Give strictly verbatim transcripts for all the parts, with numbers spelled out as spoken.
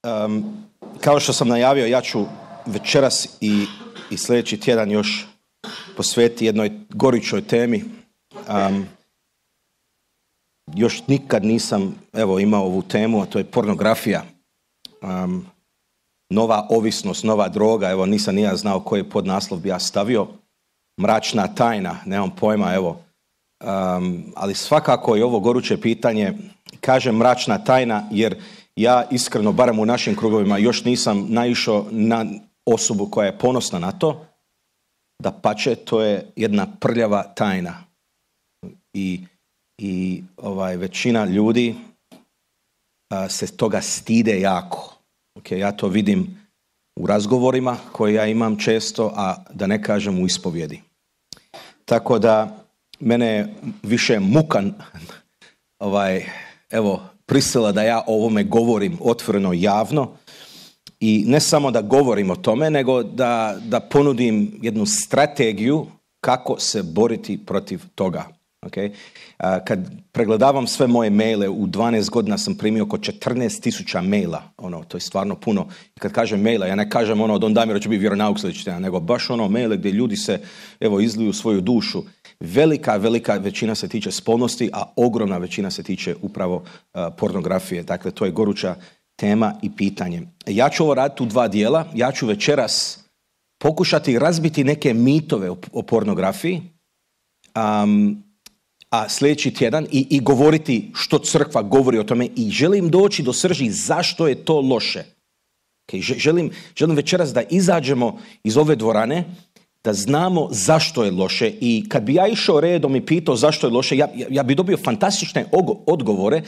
Um, kao što sam najavio, ja ću večeras i, i sljedeći tjedan još posvetiti jednoj gorućoj temi. Um, još nikad nisam evo, imao ovu temu, a to je pornografija. Um, nova ovisnost, nova droga, evo nisam ni ja znao koji podnaslov bi ja stavio. Mračna tajna, nemam pojma, evo. Um, ali svakako je ovo goruće pitanje. Kažem mračna tajna jer ja iskreno, barem u našim krugovima, još nisam naišao na osobu koja je ponosna na to. Dapače, to je jedna prljava tajna. I, i ovaj, većina ljudi a, se toga stide jako. Okay, ja to vidim u razgovorima koje ja imam često, a da ne kažem u ispovjedi. Tako da mene više mukan ovaj, evo, prisila da ja o ovome govorim otvoreno javno i ne samo da govorim o tome, nego da, da ponudim jednu strategiju kako se boriti protiv toga. Okay? Kad pregledavam sve moje maile, u dvanaest godina sam primio oko četrnaest tisuća maila. Ono, to je stvarno puno. I kad kažem maila, ja ne kažem ono, Don Damiro će biti vjeronauk sljedeći tjedan, nego baš ono maile gdje ljudi se evo, izliju svoju dušu. Velika, velika većina se tiče spolnosti, a ogromna većina se tiče upravo uh, pornografije. Dakle, to je goruća tema i pitanje. Ja ću ovo raditi u dva dijela. Ja ću večeras pokušati razbiti neke mitove o, o pornografiji, um, a sljedeći tjedan i, i govoriti što crkva govori o tome i želim doći do srži zašto je to loše. Okay, želim, želim večeras da izađemo iz ove dvorane, da znamo zašto je loše i kad bi ja išao redom i pitao zašto je loše, ja, ja bi dobio fantastične odgovore,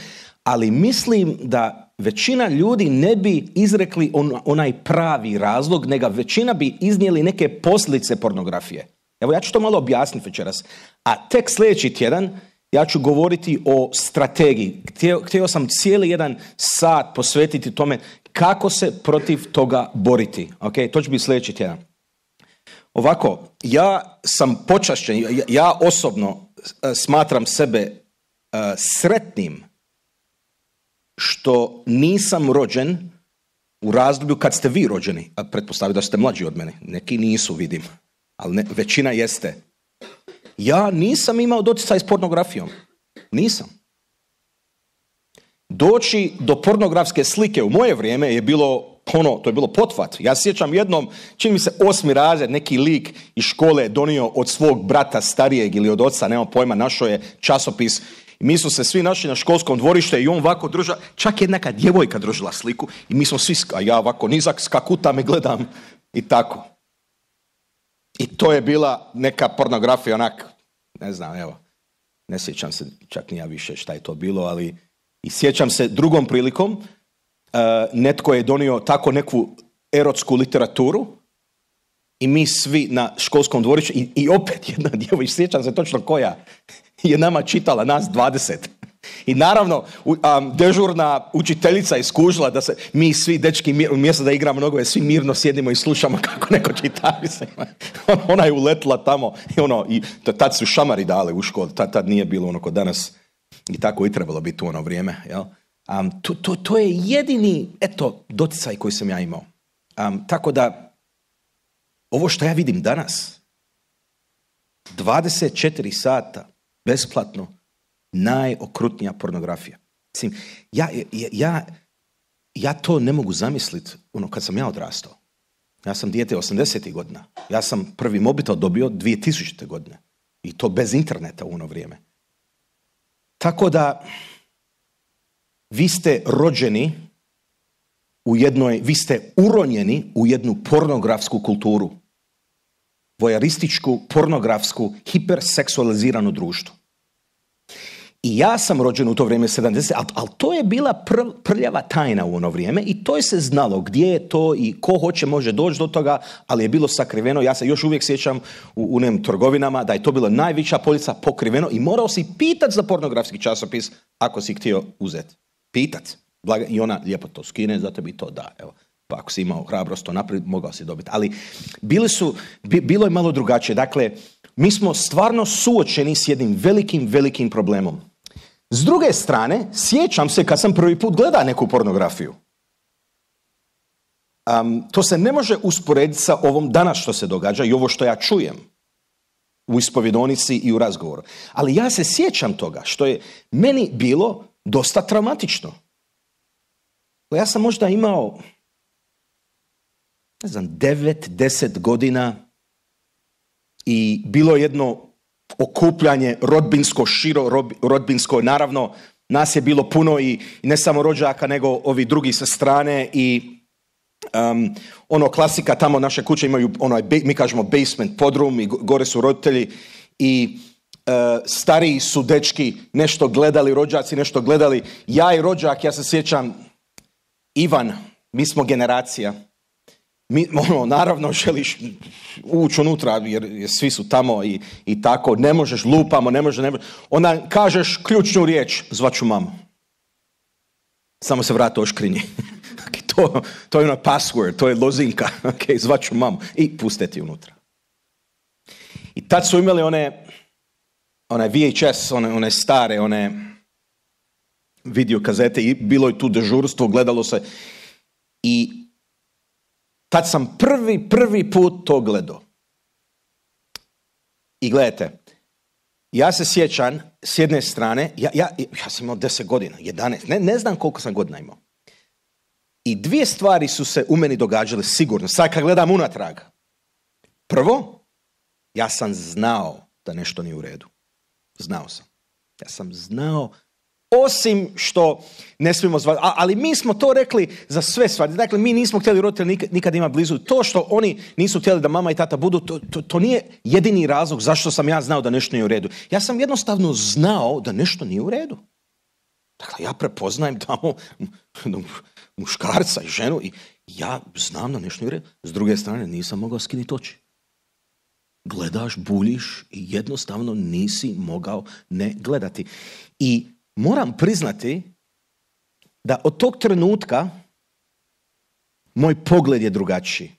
ali mislim da većina ljudi ne bi izrekli on, onaj pravi razlog, nego većina bi iznijeli neke posljedice pornografije. Evo ja ću to malo objasniti večeras. A tek sljedeći tjedan ja ću govoriti o strategiji. Htio, htio sam cijeli jedan sat posvetiti tome kako se protiv toga boriti. Okay? To će biti sljedeći tjedan. Ovako, ja sam počašćen, ja, ja osobno uh, smatram sebe uh, sretnim što nisam rođen u razdoblju kad ste vi rođeni, a pretpostavljam da ste mlađi od mene. Neki nisu, vidim, ali ne, većina jeste. Ja nisam imao doticaj s pornografijom. Nisam. Doći do pornografske slike u moje vrijeme je bilo ono, to je bilo potvat. Ja sjećam jednom, čini mi se osmi razred, neki lik iz škole donio od svog brata starijeg ili od oca, nema pojma, našao je časopis i mi smo se svi našli na školskom dvorište i on ovako drža, čak je neka djevojka držala sliku i mi smo svi, a ja ovako nizak skakutam i gledam i tako. I to je bila neka pornografija, onak, ne znam, evo, ne sjećam se čak ni ja više šta je to bilo, ali i sjećam se drugom prilikom, uh, netko je donio tako neku erotsku literaturu i mi svi na školskom dvorištu i, i opet jedna djevojka, sjećam se točno koja, je nama čitala, nas dvadeset. I naravno, um, dežurna učiteljica je skužila da se mi svi dečki mir, umjesto da igramo nogove, svi mirno sjedimo i slušamo kako neko čita. Ona je uletila tamo i ono, i tad su šamari dali u školu, tad, tad nije bilo ono kod danas i tako i trebalo biti u ono vrijeme. Jel? Um, to, to, to je jedini, eto, doticaj koji sam ja imao. Um, tako da, ovo što ja vidim danas, dvadeset četiri sata, besplatno, najokrutnija pornografija. Mislim, ja, ja, ja, ja to ne mogu zamisliti ono kad sam ja odrastao. Ja sam dijete osamdesetih godina. Ja sam prvi mobitel dobio dvije tisućite. godine. I to bez interneta u ono vrijeme. Tako da vi ste rođeni u jednoj, vi ste uronjeni u jednu pornografsku kulturu. Vojarističku, pornografsku, hiperseksualizirano društvo. I ja sam rođen u to vrijeme sedamdeset, ali, ali to je bila pr, prljava tajna u ono vrijeme i to je se znalo gdje je to i ko hoće može doći do toga, ali je bilo sakriveno. Ja se još uvijek sjećam u unim trgovinama da je to bila najveća polica pokriveno i morao si pitat za pornografski časopis ako si htio uzeti. Pitat. I ona lijepo to skine, zato bi to da. Evo. Pa ako si imao hrabrost to naprijed, mogao si dobiti. Ali bili su, bi, bilo je malo drugačije. Dakle, mi smo stvarno suočeni s jednim velikim, velikim problemom. S druge strane, sjećam se kad sam prvi put gledao neku pornografiju. Um, to se ne može usporediti sa ovom danas što se događa i ovo što ja čujem u ispovjedonici i u razgovoru. Ali ja se sjećam toga što je meni bilo dosta traumatično. Ja sam možda imao, ne znam, devet, deset godina i bilo jedno okupljanje rodbinsko, širo rodbinsko. Naravno, nas je bilo puno i ne samo rođaka, nego ovi drugi sa strane i Um, ono klasika, tamo naše kuće imaju ono, mi kažemo basement, podrum i gore su roditelji i uh, stariji su dečki nešto gledali, rođaci nešto gledali. Ja i rođak, ja se sjećam, Ivan, mi smo generacija. Mi, ono, naravno želiš ući unutra jer, jer svi su tamo i, i tako, ne možeš, lupamo, ne možeš, ne možeš. Onda kažeš ključnu riječ, zvaću mamu. Samo se vrati oškrinji. To, to je ono password, to je lozinka, ok, zvaću mamu i puste ti unutra. I tad su imali one, one V H S, one, one stare, one video kazete i bilo je tu dežurstvo, gledalo se i tad sam prvi, prvi put to gledao. I gledajte, ja se sjećam s jedne strane, ja, ja, ja sam imao deset godina, jedanaest, ne, ne znam koliko sam godina imao. I dvije stvari su se u meni događale sigurno. Sad kad gledam unatrag. Prvo, ja sam znao da nešto nije u redu. Znao sam. Ja sam znao, osim što ne smijemo zvati, ali mi smo to rekli za sve stvari. Dakle, mi nismo htjeli roditelji nikad, nikad ima blizu. To što oni nisu htjeli da mama i tata budu, to, to, to nije jedini razlog zašto sam ja znao da nešto nije u redu. Ja sam jednostavno znao da nešto nije u redu. Dakle, ja prepoznajem tamo muškarca i ženu i ja znam da nešto nije u redu. S druge strane, nisam mogao skinuti oči. Gledaš, buljiš i jednostavno nisi mogao ne gledati. I moram priznati da od tog trenutka moj pogled je drugačiji.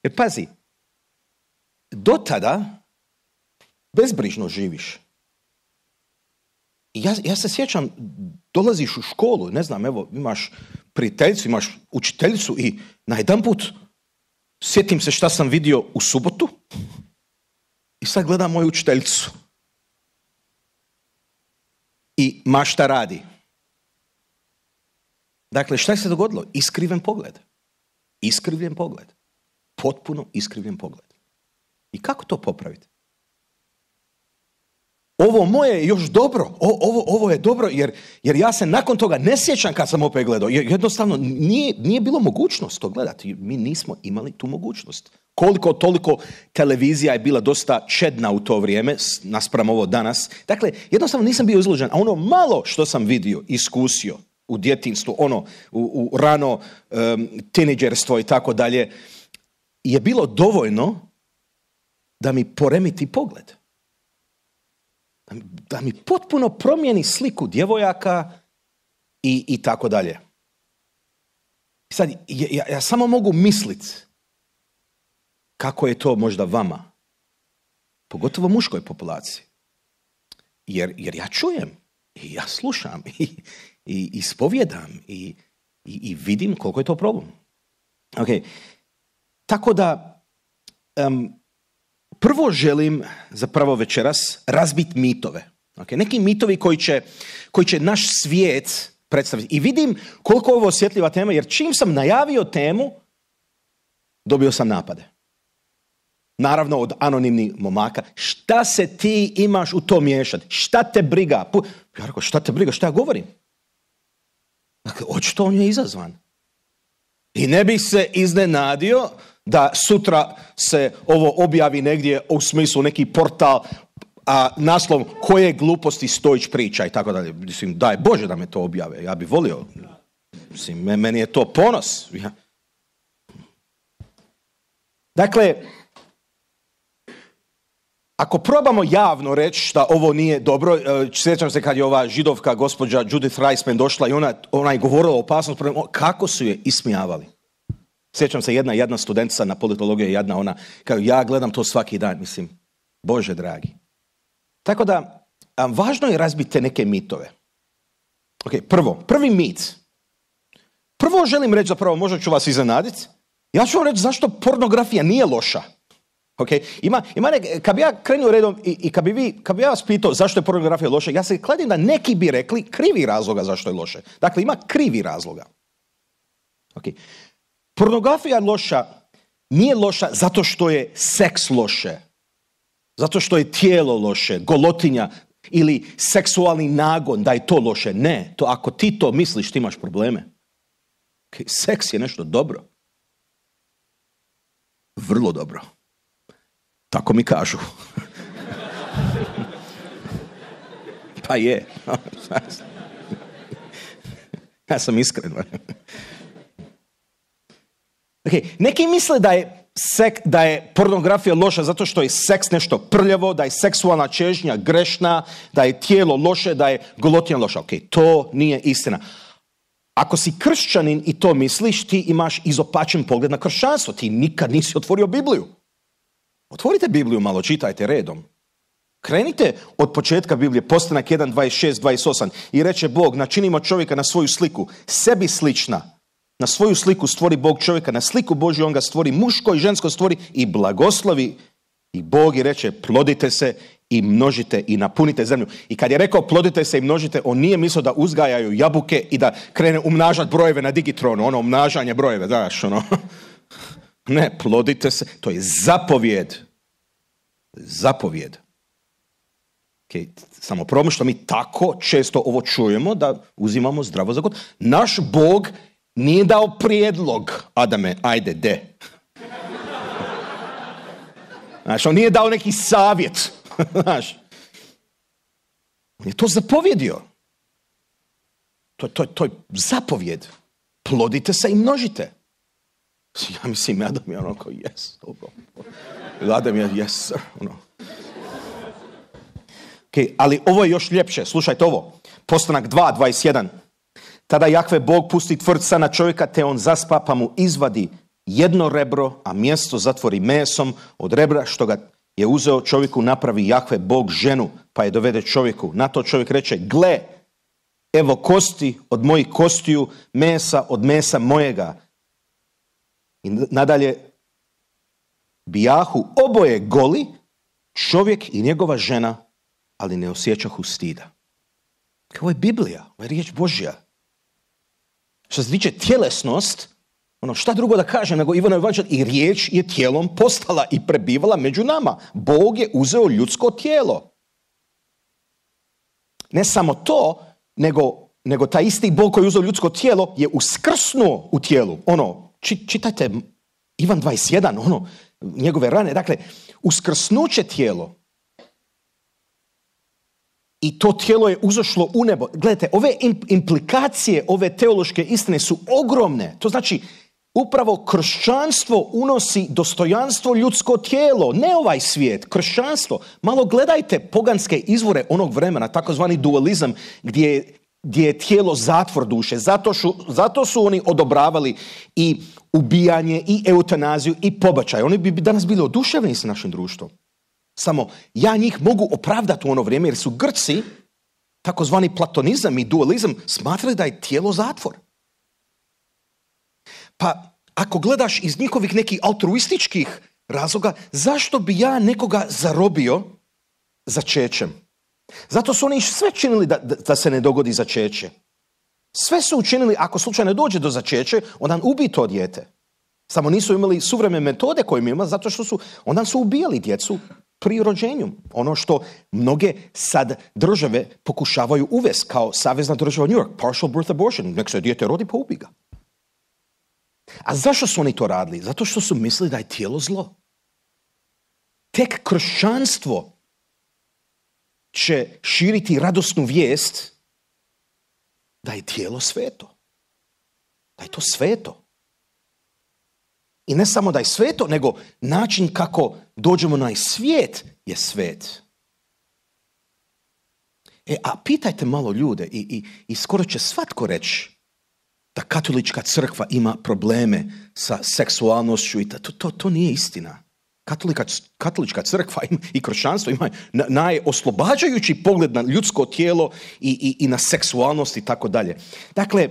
Jer pazi, do tada bezbrižno živiš. Ja, ja se sjećam, dolaziš u školu, ne znam, evo, imaš prijateljicu, imaš učiteljicu i najedanput sjetim se šta sam vidio u subotu i sad gledam moju učiteljicu. I ma šta radi. Dakle, šta je se dogodilo? Iskriven pogled. Iskrivljen pogled. Potpuno iskrivljen pogled. I kako to popraviti? Ovo moje je još dobro, o, ovo, ovo je dobro jer, jer ja se nakon toga ne sjećam kad sam opet gledao. Jednostavno nije, nije bilo mogućnost to gledati. Mi nismo imali tu mogućnost. Koliko toliko televizija je bila dosta čedna u to vrijeme, naspram ovo danas. Dakle, jednostavno nisam bio izložen. A ono malo što sam vidio, iskusio u djetinjstvu, ono u, u rano um, tinejdžerstvo i tako dalje, je bilo dovoljno da mi poremiti pogled. Da mi potpuno promijeni sliku djevojaka i, i tako dalje. Sad, ja, ja samo mogu misliti kako je to možda vama, pogotovo muškoj populaciji. Jer, jer ja čujem i ja slušam i, i ispovjedam i, i, i vidim koliko je to problem. Okay. Tako da, um, prvo želim zapravo večeras razbiti mitove. Okay? Neki mitovi koji će, koji će naš svijet predstaviti. I vidim koliko je ovo osjetljiva tema, jer čim sam najavio temu, dobio sam napade. Naravno od anonimnih momaka. Šta se ti imaš u to miješati? Šta te briga? Ja rekao, šta te briga? Šta ja govorim? Dakle, očito on je izazvan. I ne bih se iznenadio da sutra se ovo objavi negdje u smislu neki portal, a naslov koje gluposti Stojić priča i tako dalje. Mislim, daj Bože da me to objave. Ja bih volio. Mislim, meni je to ponos. Ja. Dakle, ako probamo javno reći da ovo nije dobro, sjećam se kad je ova židovka gospođa Judith Reisman došla i ona, ona je govorila o opasnosti, kako su je ismijavali. Sjećam se jedna, jedna studentica na politologiji, jedna ona, kaže, ja gledam to svaki dan, mislim, Bože dragi. Tako da, važno je razbiti neke mitove. Ok, prvo, prvi mit. Prvo želim reći, zapravo možda ću vas iznenaditi, ja ću vam reći zašto pornografija nije loša. Okay? Ima, ima nek, kad bi ja krenuo redom i, i kad bi, vi, kad bi ja vas pitao zašto je pornografija loša, ja se kladim da neki bi rekli krivi razloga zašto je loše. Dakle, ima krivi razloga. Okay. Pornografija je loša, nije loša zato što je seks loše, zato što je tijelo loše, golotinja ili seksualni nagon, da je to loše. Ne, to ako ti to misliš, ti imaš probleme. Okay. Seks je nešto dobro. Vrlo dobro. Tako mi kažu. Pa je. Ja sam iskren. Okay. Neki misle da je, sek, da je pornografija loša zato što je seks nešto prljavo, da je seksualna čežnja grešna, da je tijelo loše, da je golotinja loša. Ok, to nije istina. Ako si kršćanin i to misliš, ti imaš izopačen pogled na kršćanstvo. Ti nikad nisi otvorio Bibliju. Otvorite Bibliju malo, čitajte redom. Krenite od početka Biblije, Postanak jedan, dvadeset šest, dvadeset osam. I reče Bog, načinimo čovjeka na svoju sliku, sebi slična. Na svoju sliku stvori Bog čovjeka, na sliku Božju on ga stvori, muško i žensko stvori i blagoslovi. I Bog i reče, plodite se i množite i napunite zemlju. I kad je rekao plodite se i množite, on nije mislio da uzgajaju jabuke i da krene umnažati brojeve na digitronu, ono umnažanje brojeve, znaš, ono. Ne, plodite se, to je zapovjed. Zapovjed. Okay. Samo problem što mi tako često ovo čujemo da uzimamo zdravo za gotovo. Naš Bog nije dao prijedlog, Adame, ajde, de. Znaš, on nije dao neki savjet. Znaš, on je to zapovjedio. To, to, to je zapovjed. Plodite se i množite. Ja mislim, Adam je ono kao, yes. Adam je, yes, sir. Ono. Okay, ali ovo je još ljepše. Slušajte ovo. Postanak dva, dvadeset jedan. Tada Jahve Bog pusti tvrca na čovjeka, te on zaspa, pa mu izvadi jedno rebro, a mjesto zatvori mesom od rebra što ga je uzeo čovjeku, napravi Jahve Bog ženu, pa je dovede čovjeku. Na to čovjek reče, gle, evo kosti od mojih kostiju, mesa od mesa mojega. I nadalje, bijahu oboje goli, čovjek i njegova žena, ali ne osjećahu stida. Ovo je Biblija, ovo je riječ Božja. Što se tiče tjelesnost, ono šta drugo da kažem nego Ivano Evanđelje, i riječ je tijelom postala i prebivala među nama. Bog je uzeo ljudsko tijelo. Ne samo to, nego, nego taj isti Bog koji je uzeo ljudsko tijelo je uskrsnuo u tijelu. Ono, či, čitajte Ivan dvadeset jedan, ono, njegove rane. Dakle, uskrsnuće tijelo. I to tijelo je uzašlo u nebo. Gledajte, ove implikacije, ove teološke istine su ogromne. To znači, upravo kršćanstvo unosi dostojanstvo ljudsko tijelo, ne ovaj svijet, kršćanstvo. Malo gledajte poganske izvore onog vremena, takozvani dualizam, gdje je, gdje je tijelo zatvor duše. Zato su, zato su oni odobravali i ubijanje, i eutanaziju, i pobačaj. Oni bi danas bili oduševljeni s našim društvom. Samo ja njih mogu opravdati u ono vrijeme jer su Grci, takozvani platonizam i dualizam, smatrali da je tijelo zatvor. Pa ako gledaš iz njihovih nekih altruističkih razloga, zašto bi ja nekoga zarobio začećem? Zato su oni sve činili da, da, da se ne dogodi začeće. Sve su učinili, ako slučajno dođe do začeće, onda ubij to dijete. Samo nisu imali suvremene metode koje mi ima, zato što su, onda su ubijali djecu pri rođenju. Ono što mnoge sad države pokušavaju uvesti kao savezna država New York, partial birth abortion, nek se dijete rodi pa ubi ga. A zašto su oni to radili? Zato što su mislili da je tijelo zlo. Tek kršćanstvo će širiti radosnu vijest da je tijelo sveto. Da je to sveto. I ne samo da je sveto, nego način kako dođemo na svijet je svet. E, a pitajte malo ljude i, i, i skoro će svatko reći da katolička crkva ima probleme sa seksualnošću i to, to, to nije istina. Katolika, katolička crkva ima, i kršćanstvo ima najoslobađajući pogled na ljudsko tijelo i, i, i na seksualnost i tako dalje. Dakle,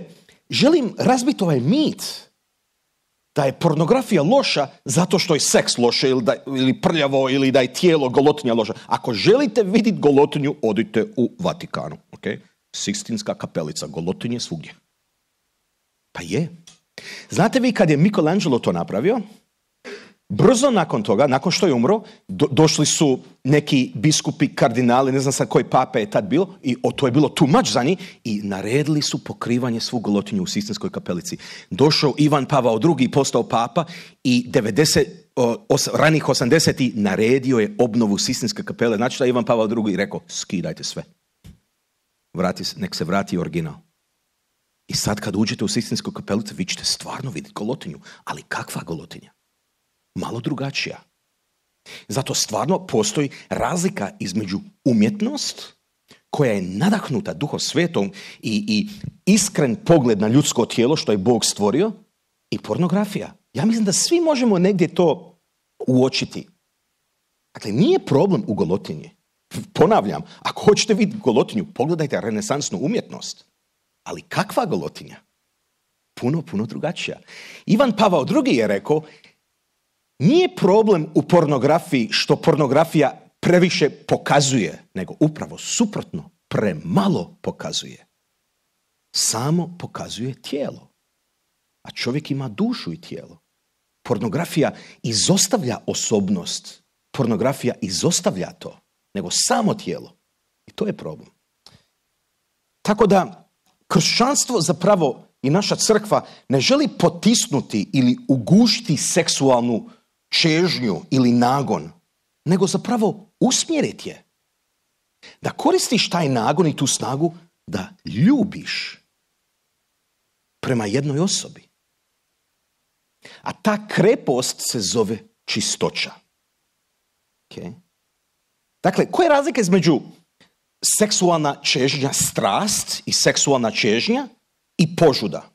želim razbiti ovaj mit da je pornografija loša zato što je seks loše ili, da, ili prljavo ili da je tijelo golotinja loša. Ako želite vidjeti golotinju, odite u Vatikanu. Okay? Sikstinska kapelica, golotinje svugdje. Pa je. Znate vi kad je Michelangelo to napravio? Brzo nakon toga, nakon što je umro, do, došli su neki biskupi, kardinali, ne znam sad koji pape je tad bilo, i o, to je bilo too much za njih, i naredili su pokrivanje svu golotinju u Sikstinskoj kapelici. Došao Ivan Pavao drugi, postao papa, i devedeset, os, ranih osamdesetih naredio je obnovu Sikstinske kapele. Znači da je Ivan Pavao drugi rekao, skidajte sve. Vrati, nek se vrati original. I sad kad uđete u Sikstinsku kapelicu, vi ćete stvarno vidjeti golotinju. Ali kakva golotinja? Malo drugačija. Zato stvarno postoji razlika između umjetnost koja je nadahnuta Duhom Svetom i, i iskren pogled na ljudsko tijelo što je Bog stvorio i pornografija. Ja mislim da svi možemo negdje to uočiti. Dakle, nije problem u golotinji. Ponavljam, ako hoćete vidjeti golotinju, pogledajte renesansnu umjetnost. Ali kakva golotinja? Puno, puno drugačija. Ivan Pavao drugi je rekao, nije problem u pornografiji što pornografija previše pokazuje, nego upravo suprotno, premalo pokazuje. Samo pokazuje tijelo. A čovjek ima dušu i tijelo. Pornografija izostavlja osobnost. Pornografija izostavlja to, nego samo tijelo. I to je problem. Tako da, kršćanstvo zapravo i naša crkva ne želi potisnuti ili ugušiti seksualnu čežnju ili nagon, nego zapravo usmjeriti je. Da koristiš taj nagon i tu snagu da ljubiš prema jednoj osobi. A ta krepost se zove čistoća. Okay? Dakle, koja je razlika između seksualna čežnja, strast i seksualna čežnja i požuda?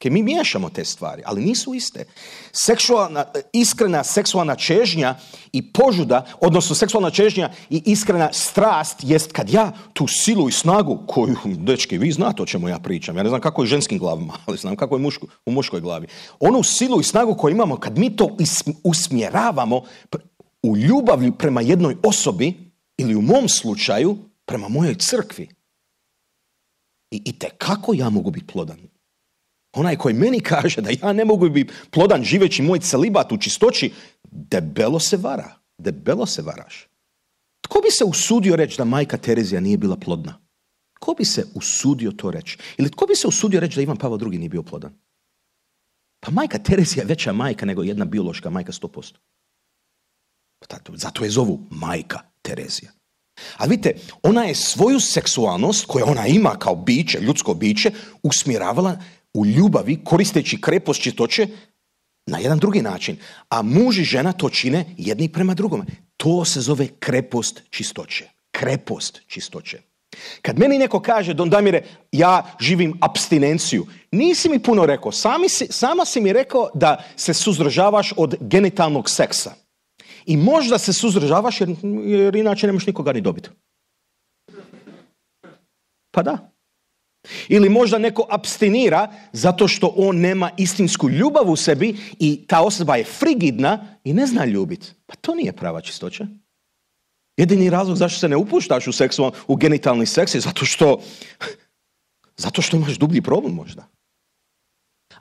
Okay, mi miješamo te stvari, ali nisu iste. Seksualna, iskrena seksualna čežnja i požuda, odnosno seksualna čežnja i iskrena strast jest kad ja tu silu i snagu koju, dečki, vi znate o čemu ja pričam. Ja ne znam kako je u ženskim glavama, ali znam kako je muško, u muškoj glavi. Onu silu i snagu koju imamo kad mi to usmjeravamo u ljubavi prema jednoj osobi ili u mom slučaju prema mojoj crkvi. I, i te kako ja mogu biti plodan? Onaj koji meni kaže da ja ne mogu biti plodan živeći moj celibat u čistoći, debelo se vara. Debelo se varaš. Tko bi se usudio reći da majka Terezija nije bila plodna? Tko bi se usudio to reći? Ili tko bi se usudio reći da Ivan Pavao drugi nije bio plodan? Pa majka Terezija je veća majka nego jedna biološka majka sto posto. Zato je zovu majka Terezija. Ali vidite, ona je svoju seksualnost koju ona ima kao biće, ljudsko biće, usmjeravala u ljubavi, koristeći krepost čistoće na jedan drugi način. A muž i žena to čine jedni prema drugome. To se zove krepost čistoće. Krepost čistoće. Kad meni neko kaže, Don Damire, ja živim abstinenciju, nisi mi puno rekao. Sami si, sama si mi rekao da se suzdržavaš od genitalnog seksa. I možda se suzdržavaš jer, jer inače nemaš nikoga ni dobiti. Pa da. Ili možda neko apstinira zato što on nema istinsku ljubav u sebi i ta osoba je frigidna i ne zna ljubiti. Pa to nije prava čistoća. Jedini razlog zašto se ne upuštaš u, seksual, u genitalni seks je zato što, zato što imaš dublji problem možda.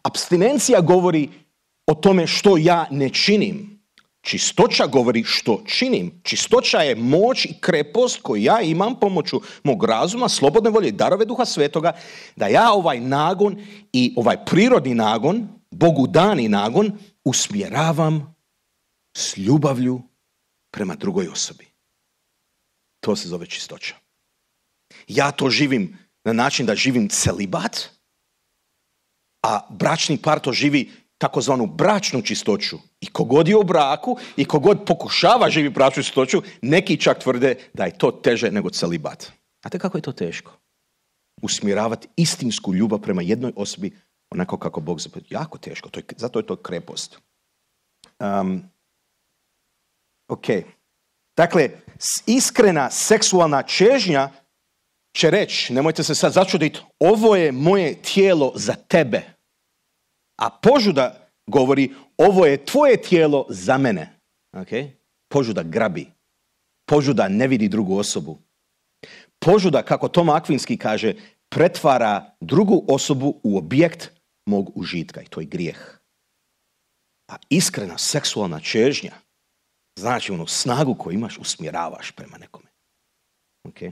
Apstinencija govori o tome što ja ne činim. Čistoća govori što činim. Čistoća je moć i krepost koju ja imam pomoću mog razuma, slobodne volje i darove Duha Svetoga, da ja ovaj nagon i ovaj prirodni nagon, Bogu dani nagon, usmjeravam s ljubavlju prema drugoj osobi. To se zove čistoća. Ja to živim na način da živim celibat, a bračni par to živi takozvanu bračnu čistoću. I kogod je u braku i kogod pokušava živjeti bračnu čistoću, neki čak tvrde da je to teže nego celibat. Znate kako je to teško? Usmjeravati istinsku ljubav prema jednoj osobi onako kako Bog zapovjedi. Jako teško, to je, zato je to krepost. Um, ok. Dakle, iskrena seksualna čežnja će reći, nemojte se sad začuditi, ovo je moje tijelo za tebe. A požuda govori, ovo je tvoje tijelo za mene. Okay? Požuda grabi. Požuda ne vidi drugu osobu. Požuda, kako Toma Akvinski kaže, pretvara drugu osobu u objekt mog užitka i to je grijeh. A iskrena seksualna čežnja znači onu snagu koju imaš usmjeravaš prema nekome. Okay?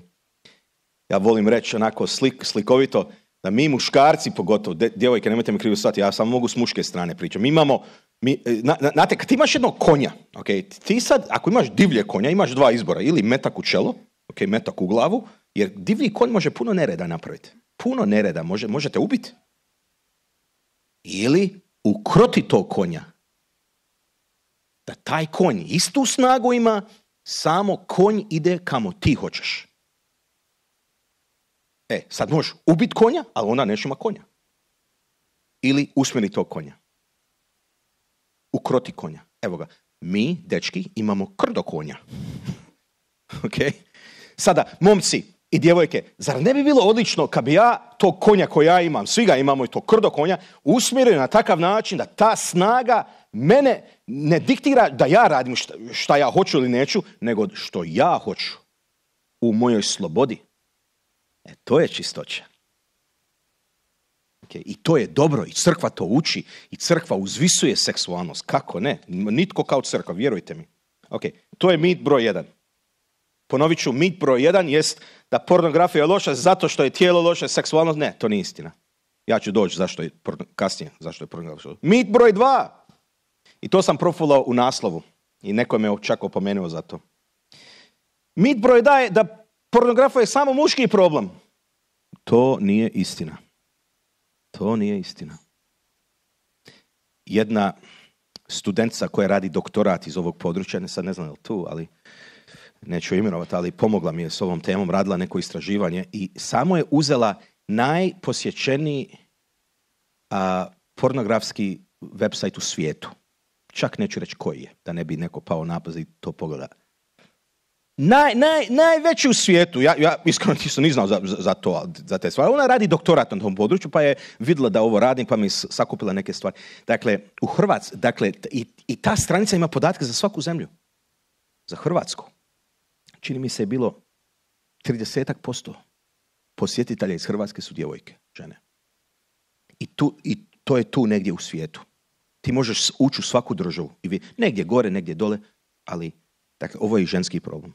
Ja volim reći onako slik, slikovito da mi muškarci pogotovo, de, djevojke, nemojte me krivo shvatiti, ja samo mogu s muške strane pričati. Mi imamo, mi, na, na, znate, kad ti imaš jednog konja, okay, ti sad, ako imaš divlje konja, imaš dva izbora, ili metak u čelo, okay, metak u glavu, jer divlji konj može puno nereda napraviti. Puno nereda, može, možete ubiti. Ili ukroti tog konja. Da taj konj istu snagu ima, samo konj ide kamo ti hoćeš. E, sad možeš ubiti konja, ali onda neš ima konja. Ili usmjeri tog konja. Ukroti konja. Evo ga, mi, dečki, imamo krdo konja. Ok? Sada, momci i djevojke, zar ne bi bilo odlično kad bi ja tog konja koji ja imam, svi ga imamo i to krdo konja, usmjerio na takav način da ta snaga mene ne diktira da ja radim šta, šta ja hoću ili neću, nego što ja hoću u mojoj slobodi. E, to je čistoća. Okay. I to je dobro, i crkva to uči, i crkva uzvisuje seksualnost. Kako ne? Nitko kao crkva, vjerujte mi. Okay. To je mit broj jedan. Ponovit ću, mit broj jedan jest da pornografija je loša zato što je tijelo loše, seksualnost. Ne, to nije istina. Ja ću doći zašto je, kasnije zašto je pornografija. Mit broj dva. I to sam profulao u naslovu. I neko me čak opomenuo za to. Mit broj dva je da pornografija je samo muški problem. To nije istina. To nije istina. Jedna studentica koja radi doktorat iz ovog područja, ne sad ne znam je li tu, ali neću imenovati, ali pomogla mi je s ovom temom, radila neko istraživanje i samo je uzela najposjećeniji a, pornografski website u svijetu. Čak neću reći koji je, da ne bi neko pao napad i to pogleda. Naj, naj, najveći u svijetu, ja, ja iskreno nisam ni znao za, za to, za te stvari. Ona radi doktorat na tom području, pa je vidjela da ovo radim, pa mi sakupila neke stvari. Dakle, u Hrvatskoj, dakle, i, i ta stranica ima podatke za svaku zemlju. Za Hrvatsku. Čini mi se je bilo trideset posto posjetitelja iz Hrvatske su djevojke, žene. I, tu, i to je tu negdje u svijetu. Ti možeš ući u svaku državu. I vi, negdje gore, negdje dole, ali dakle, ovo je i ženski problem.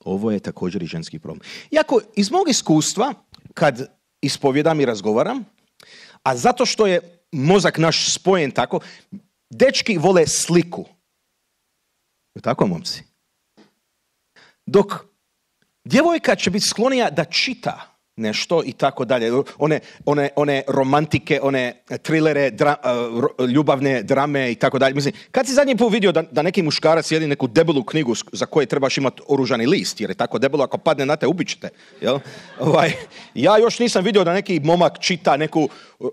Ovo je također i ženski problem. Iako iz mog iskustva, kad ispovjedam i razgovaram, a zato što je mozak naš spojen tako, dečki vole sliku. Je tako, momci? Dok djevojka će biti sklonija da čita nešto i tako dalje. One, one, one romantike, one trilere, dra, uh, ljubavne drame i tako dalje. Mislim, kad si zadnji put vidio da, da neki muškarac sjedi neku debelu knjigu za koje trebaš imati oružani list, jer je tako debelo, ako padne na te, ubit ćete. Jel? Ovaj, ja još nisam vidio da neki momak čita neku uh,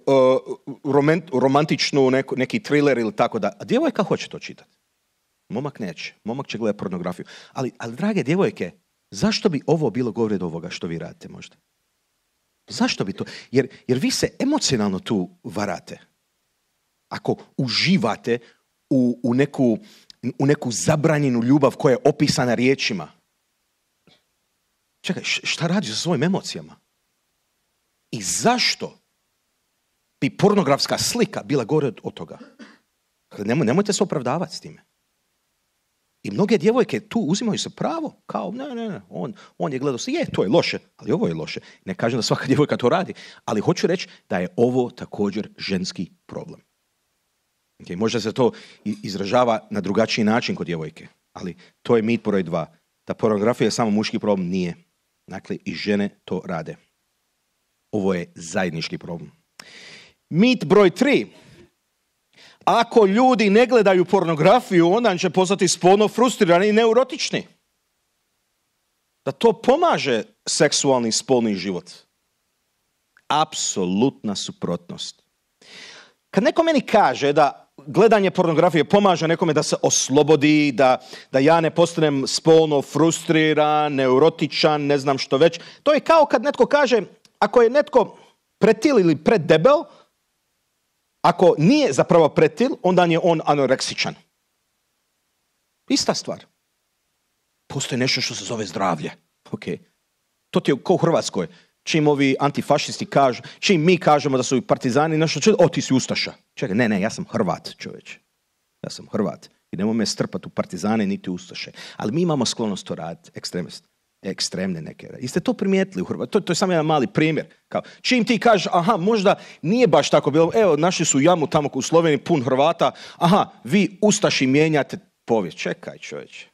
romant, romantičnu, neku, neki thriller ili tako da. A djevojka hoće to čitati. Momak neće. Momak će gledati pornografiju. Ali, ali drage djevojke, zašto bi ovo bilo govore do ovoga što vi radite možda? Zašto bi to? Jer, jer vi se emocionalno tu varate. Ako uživate u, u, neku, u neku zabranjenu ljubav koja je opisana riječima. Čekaj, šta radiš sa svojim emocijama? I zašto bi pornografska slika bila gore od toga? Nemoj, nemojte se opravdavati s time. I mnoge djevojke tu uzimaju se pravo, kao ne, ne, ne, on, on je gledao se, je, to je loše, ali ovo je loše. Ne kažem da svaka djevojka to radi, ali hoću reći da je ovo također ženski problem. Okay, možda se to izražava na drugačiji način kod djevojke, ali to je mit broj dva. Da pornografija je samo muški problem, nije. Dakle, i žene to rade. Ovo je zajednički problem. Mit broj tri. Ako ljudi ne gledaju pornografiju, onda će postati spolno frustrirani i neurotični. Da to pomaže seksualni spolni život. Apsolutna suprotnost. Kad neko meni kaže da gledanje pornografije pomaže nekome da se oslobodi, da, da ja ne postanem spolno frustriran, neurotičan, ne znam što već. To je kao kad netko kaže, ako je netko pretil ili preddebel, ako nije zapravo pretil, onda je on anoreksičan. Ista stvar. Postoji nešto što se zove zdravlje. Okay. To ti je kao u Hrvatskoj. Čim ovi antifašisti kažu, čim mi kažemo da su partizani, nešto čuje, o ti si ustaša. Čekaj, ne, ne, ja sam Hrvat, čovječe. Ja sam Hrvat. I nemoj me strpati u partizane niti ustaše. Ali mi imamo sklonost to raditi, ekstremist. Ekstremne neke. I ste to primijetili u Hrvatskoj. To, to je samo jedan mali primjer. Kao, čim ti kažeš, aha, možda nije baš tako bilo. Evo, našli su jamu tamo u Sloveniji, pun Hrvata. Aha, vi ustaši mijenjate povijest. Čekaj, čovječe.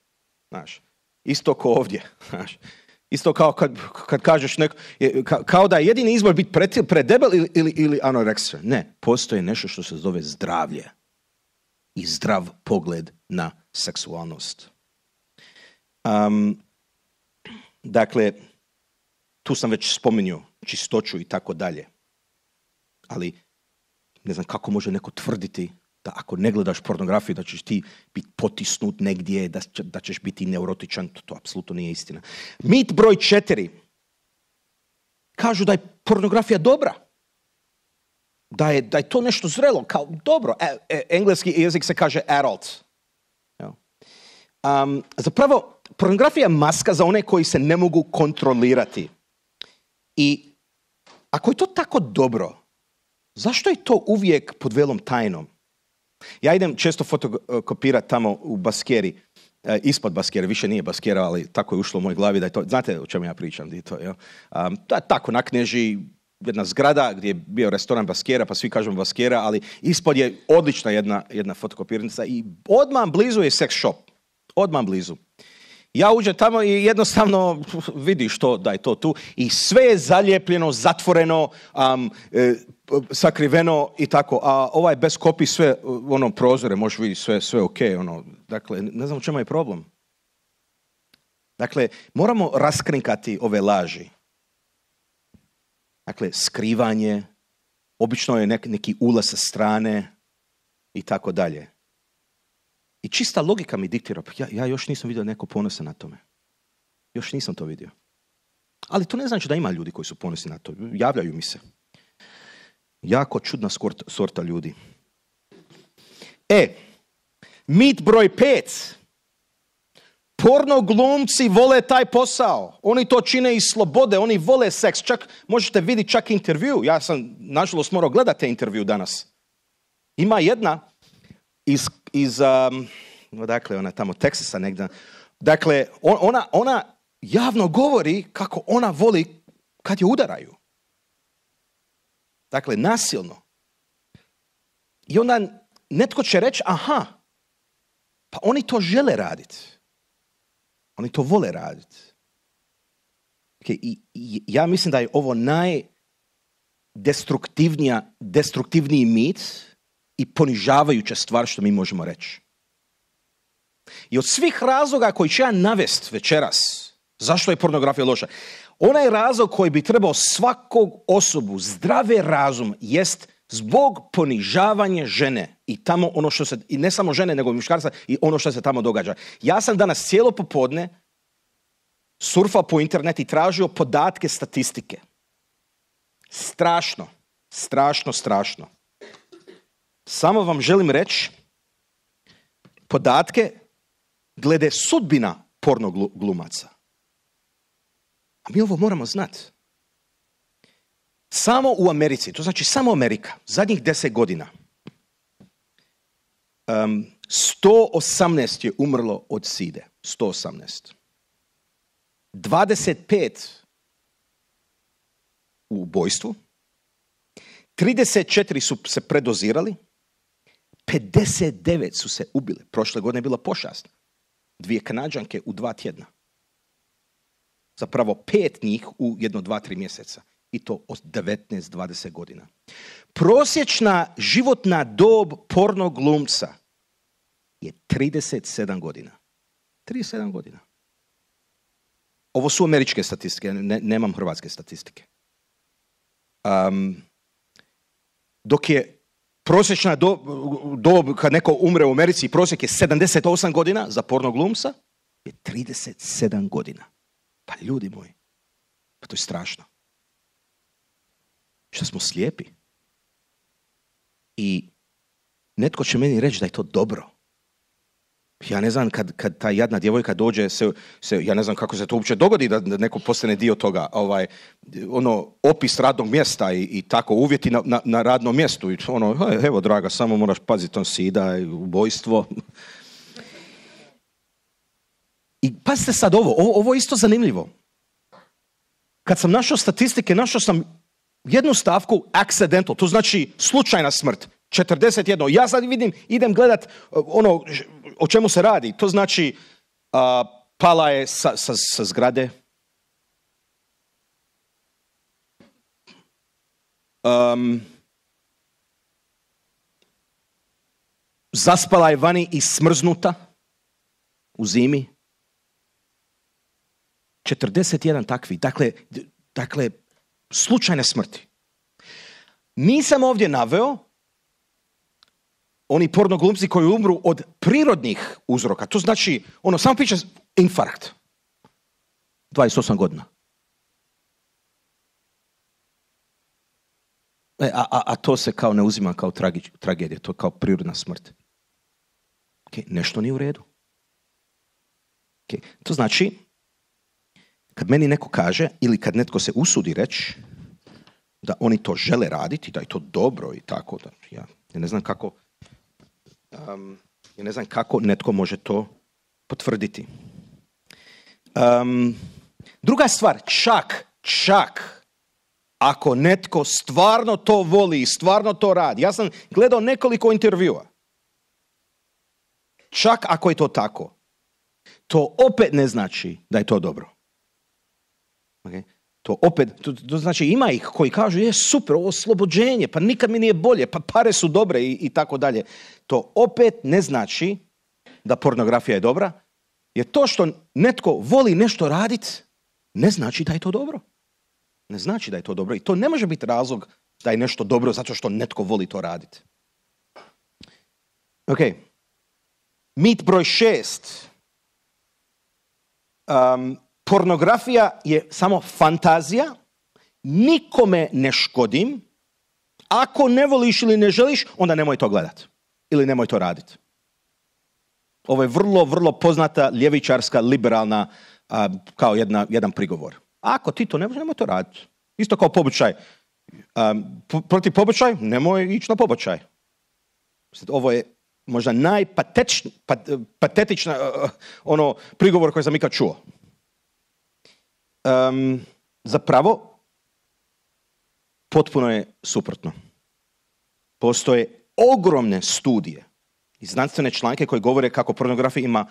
Znaš, isto ko ovdje. Znaš. Isto kao kad, kad kažeš neko, kao da je jedini izbor biti pretil, predebel ili, ili, ili anoreksičan. Ne, postoji nešto što se zove zdravlje i zdrav pogled na seksualnost. Um, dakle, tu sam već spomenuo čistoću i tako dalje. Ali ne znam kako može neko tvrditi da ako ne gledaš pornografiju da ćeš ti biti potisnut negdje, da, da ćeš biti neurotičan, to, to apsolutno nije istina. Mit broj četiri. Kažu da je pornografija dobra. Da je, da je to nešto zrelo, kao dobro. E, e, engleski jezik se kaže adult. Um, zapravo, pornografija je maska za one koji se ne mogu kontrolirati. I ako je to tako dobro, zašto je to uvijek pod velom tajnom? Ja idem često fotokopirati tamo u Baskeri, e, ispod Baskere, više nije Baskera, ali tako je ušlo u moj glavi da je to, znate o čemu ja pričam, di to, jel? Um, to je tako na Kneži, jedna zgrada gdje je bio restoran Baskera, pa svi kažemo Baskera, ali ispod je odlična jedna, jedna fotokopirnica i odmah blizu je sex shop, odmah blizu. Ja uđem tamo i jednostavno vidiš to, da je to tu i sve je zalijepljeno, zatvoreno, um, e, sakriveno i tako, a ovaj bez kopi sve, ono, prozore, možeš vidjeti sve, sve ok, ono, dakle, ne znam u čemu je problem. Dakle, moramo raskrinkati ove laži. Dakle, skrivanje, obično je nek, neki ulaz sa strane i tako dalje. I čista logika mi diktira, ja, ja još nisam vidio neko ponosan na tome. Još nisam to vidio. Ali to ne znači da ima ljudi koji su ponosni na to. Javljaju mi se. Jako čudna sorta, sorta ljudi. E, mit broj pet. Porno glumci vole taj posao. Oni to čine iz slobode, oni vole seks. Čak, možete vidjeti čak intervju. Ja sam, nažalost, morao gledati te intervju danas. Ima jedna iz, iz um, dakle, ona tamo Teksasa negdje. Dakle, on, ona, ona javno govori kako ona voli kad je udaraju. Dakle, nasilno. I onda netko će reći, aha, pa oni to žele raditi. Oni to vole raditi. Okay, i, i, ja mislim da je ovo najdestruktivnija, destruktivniji mit i ponižavajuća stvar što mi možemo reći. I od svih razloga koji ću ja navesti večeras, zašto je pornografija loša, onaj razlog koji bi trebao svakog osobu, zdrave razum, jest zbog ponižavanja žene i tamo ono što se, i ne samo žene, nego muškarca i ono što se tamo događa. Ja sam danas cijelo popodne surfao po internetu i tražio podatke statistike. Strašno, strašno, strašno. Samo vam želim reći podatke glede sudbina porno glumaca. A mi ovo moramo znati. Samo u Americi, to znači samo Amerika, zadnjih deset godina, um, sto osamnaest je umrlo od side. sto osamnaest. dvadeset pet u ubojstvu, trideset četiri su se predozirali, pedeset devet su se ubile. Prošle godine je bila pošast. Dvije Kanađanke u dva tjedna. Zapravo pet njih u jedno, dva, tri mjeseca. I to od devetnaest do dvadeset godina. Prosječna životna dob porno glumca je trideset sedam godina. trideset sedam godina. Ovo su američke statistike, ne, nemam hrvatske statistike. Um, dok je prosječna dob, dob kad neko umre u Americi, prosjek je sedamdeset osam godina za porno glumca, je trideset sedam godina. Pa ljudi moji, pa to je strašno. Što smo slijepi. I netko će meni reći da je to dobro. Ja ne znam, kad, kad ta jadna djevojka dođe, se, se, ja ne znam kako se to uopće dogodi da, da neko postane dio toga. Ovaj, ono, opis radnog mjesta i, i tako, uvjeti na, na, na radnom mjestu. I ono, evo draga, samo moraš paziti on sida, ubojstvo. I pazite sad ovo, ovo, ovo je isto zanimljivo. Kad sam našao statistike, našao sam jednu stavku accidental, to znači slučajna smrt. četrdeset jedan. Ja sad vidim, idem gledat ono o čemu se radi. To znači uh, pala je sa, sa, sa zgrade. Um, zaspala je vani i smrznuta u zimi. četrdeset jedan takvi. Dakle, dakle, slučajne smrti. Nisam ovdje naveo oni porno glumci koji umru od prirodnih uzroka. To znači, ono, samo piše infarkt. dvadeset osam godina. E, a, a, a to se kao ne uzima kao tragi, tragedija, to je kao prirodna smrt. Okay, nešto nije u redu. Okay, to znači, kad meni neko kaže, ili kad netko se usudi reći, da oni to žele raditi, da je to dobro i tako, da ja, ja ne znam kako Um, ja ne znam kako netko može to potvrditi. Um, druga stvar, čak, čak, ako netko stvarno to voli i stvarno to radi. Ja sam gledao nekoliko intervjua. Čak ako je to tako, to opet ne znači da je to dobro. Okay? To opet, to, to znači ima ih koji kažu, je super, ovo oslobođenje, pa nikad mi nije bolje, pa pare su dobre i, i tako dalje. To opet ne znači da pornografija je dobra, jer to što netko voli nešto raditi, ne znači da je to dobro. Ne znači da je to dobro. I to ne može biti razlog da je nešto dobro zato što netko voli to raditi. Ok. Mit broj šest. Um, Pornografija je samo fantazija, nikome ne škodim, ako ne voliš ili ne želiš, onda nemoj to gledati ili nemoj to raditi. Ovo je vrlo, vrlo poznata ljevičarska, liberalna, a, kao jedna, jedan prigovor. Ako ti to ne voliš, nemoj to raditi. Isto kao pobačaj. Protiv pobačaj, nemoj ići na pobačaj. Ovo je možda najpatetična uh, ono prigovor koji sam ikad čuo. Um, zapravo, potpuno je suprotno. Postoje ogromne studije i znanstvene članke koje govore kako pornografija ima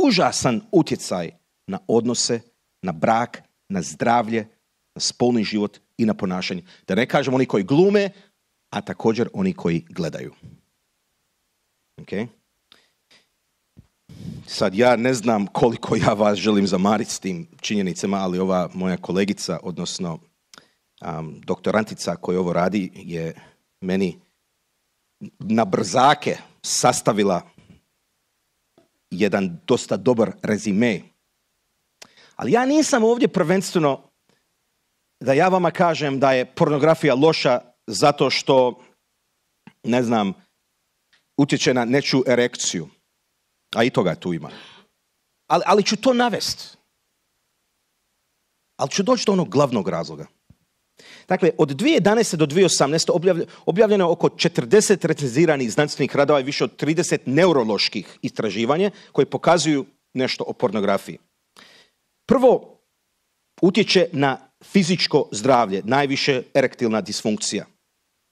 užasan utjecaj na odnose, na brak, na zdravlje, na spolni život i na ponašanje. Da ne kažem oni koji glume, a također oni koji gledaju. Okay? Sad ja ne znam koliko ja vas želim zamariti s tim činjenicama, ali ova moja kolegica, odnosno um, doktorantica koja ovo radi, je meni na brzake sastavila jedan dosta dobar rezime. Ali ja nisam ovdje prvenstveno da ja vama kažem da je pornografija loša zato što, ne znam, utječe na nečiju erekciju. A i toga tu ima. Ali, ali ću to navesti. Ali ću doći do onog glavnog razloga. Dakle, od dvije tisuće jedanaeste do dvije tisuće osamnaeste objavljeno je oko četrdeset recenziranih znanstvenih radova i više od trideset neuroloških istraživanja koje pokazuju nešto o pornografiji. Prvo, utječe na fizičko zdravlje, najviše erektilna disfunkcija.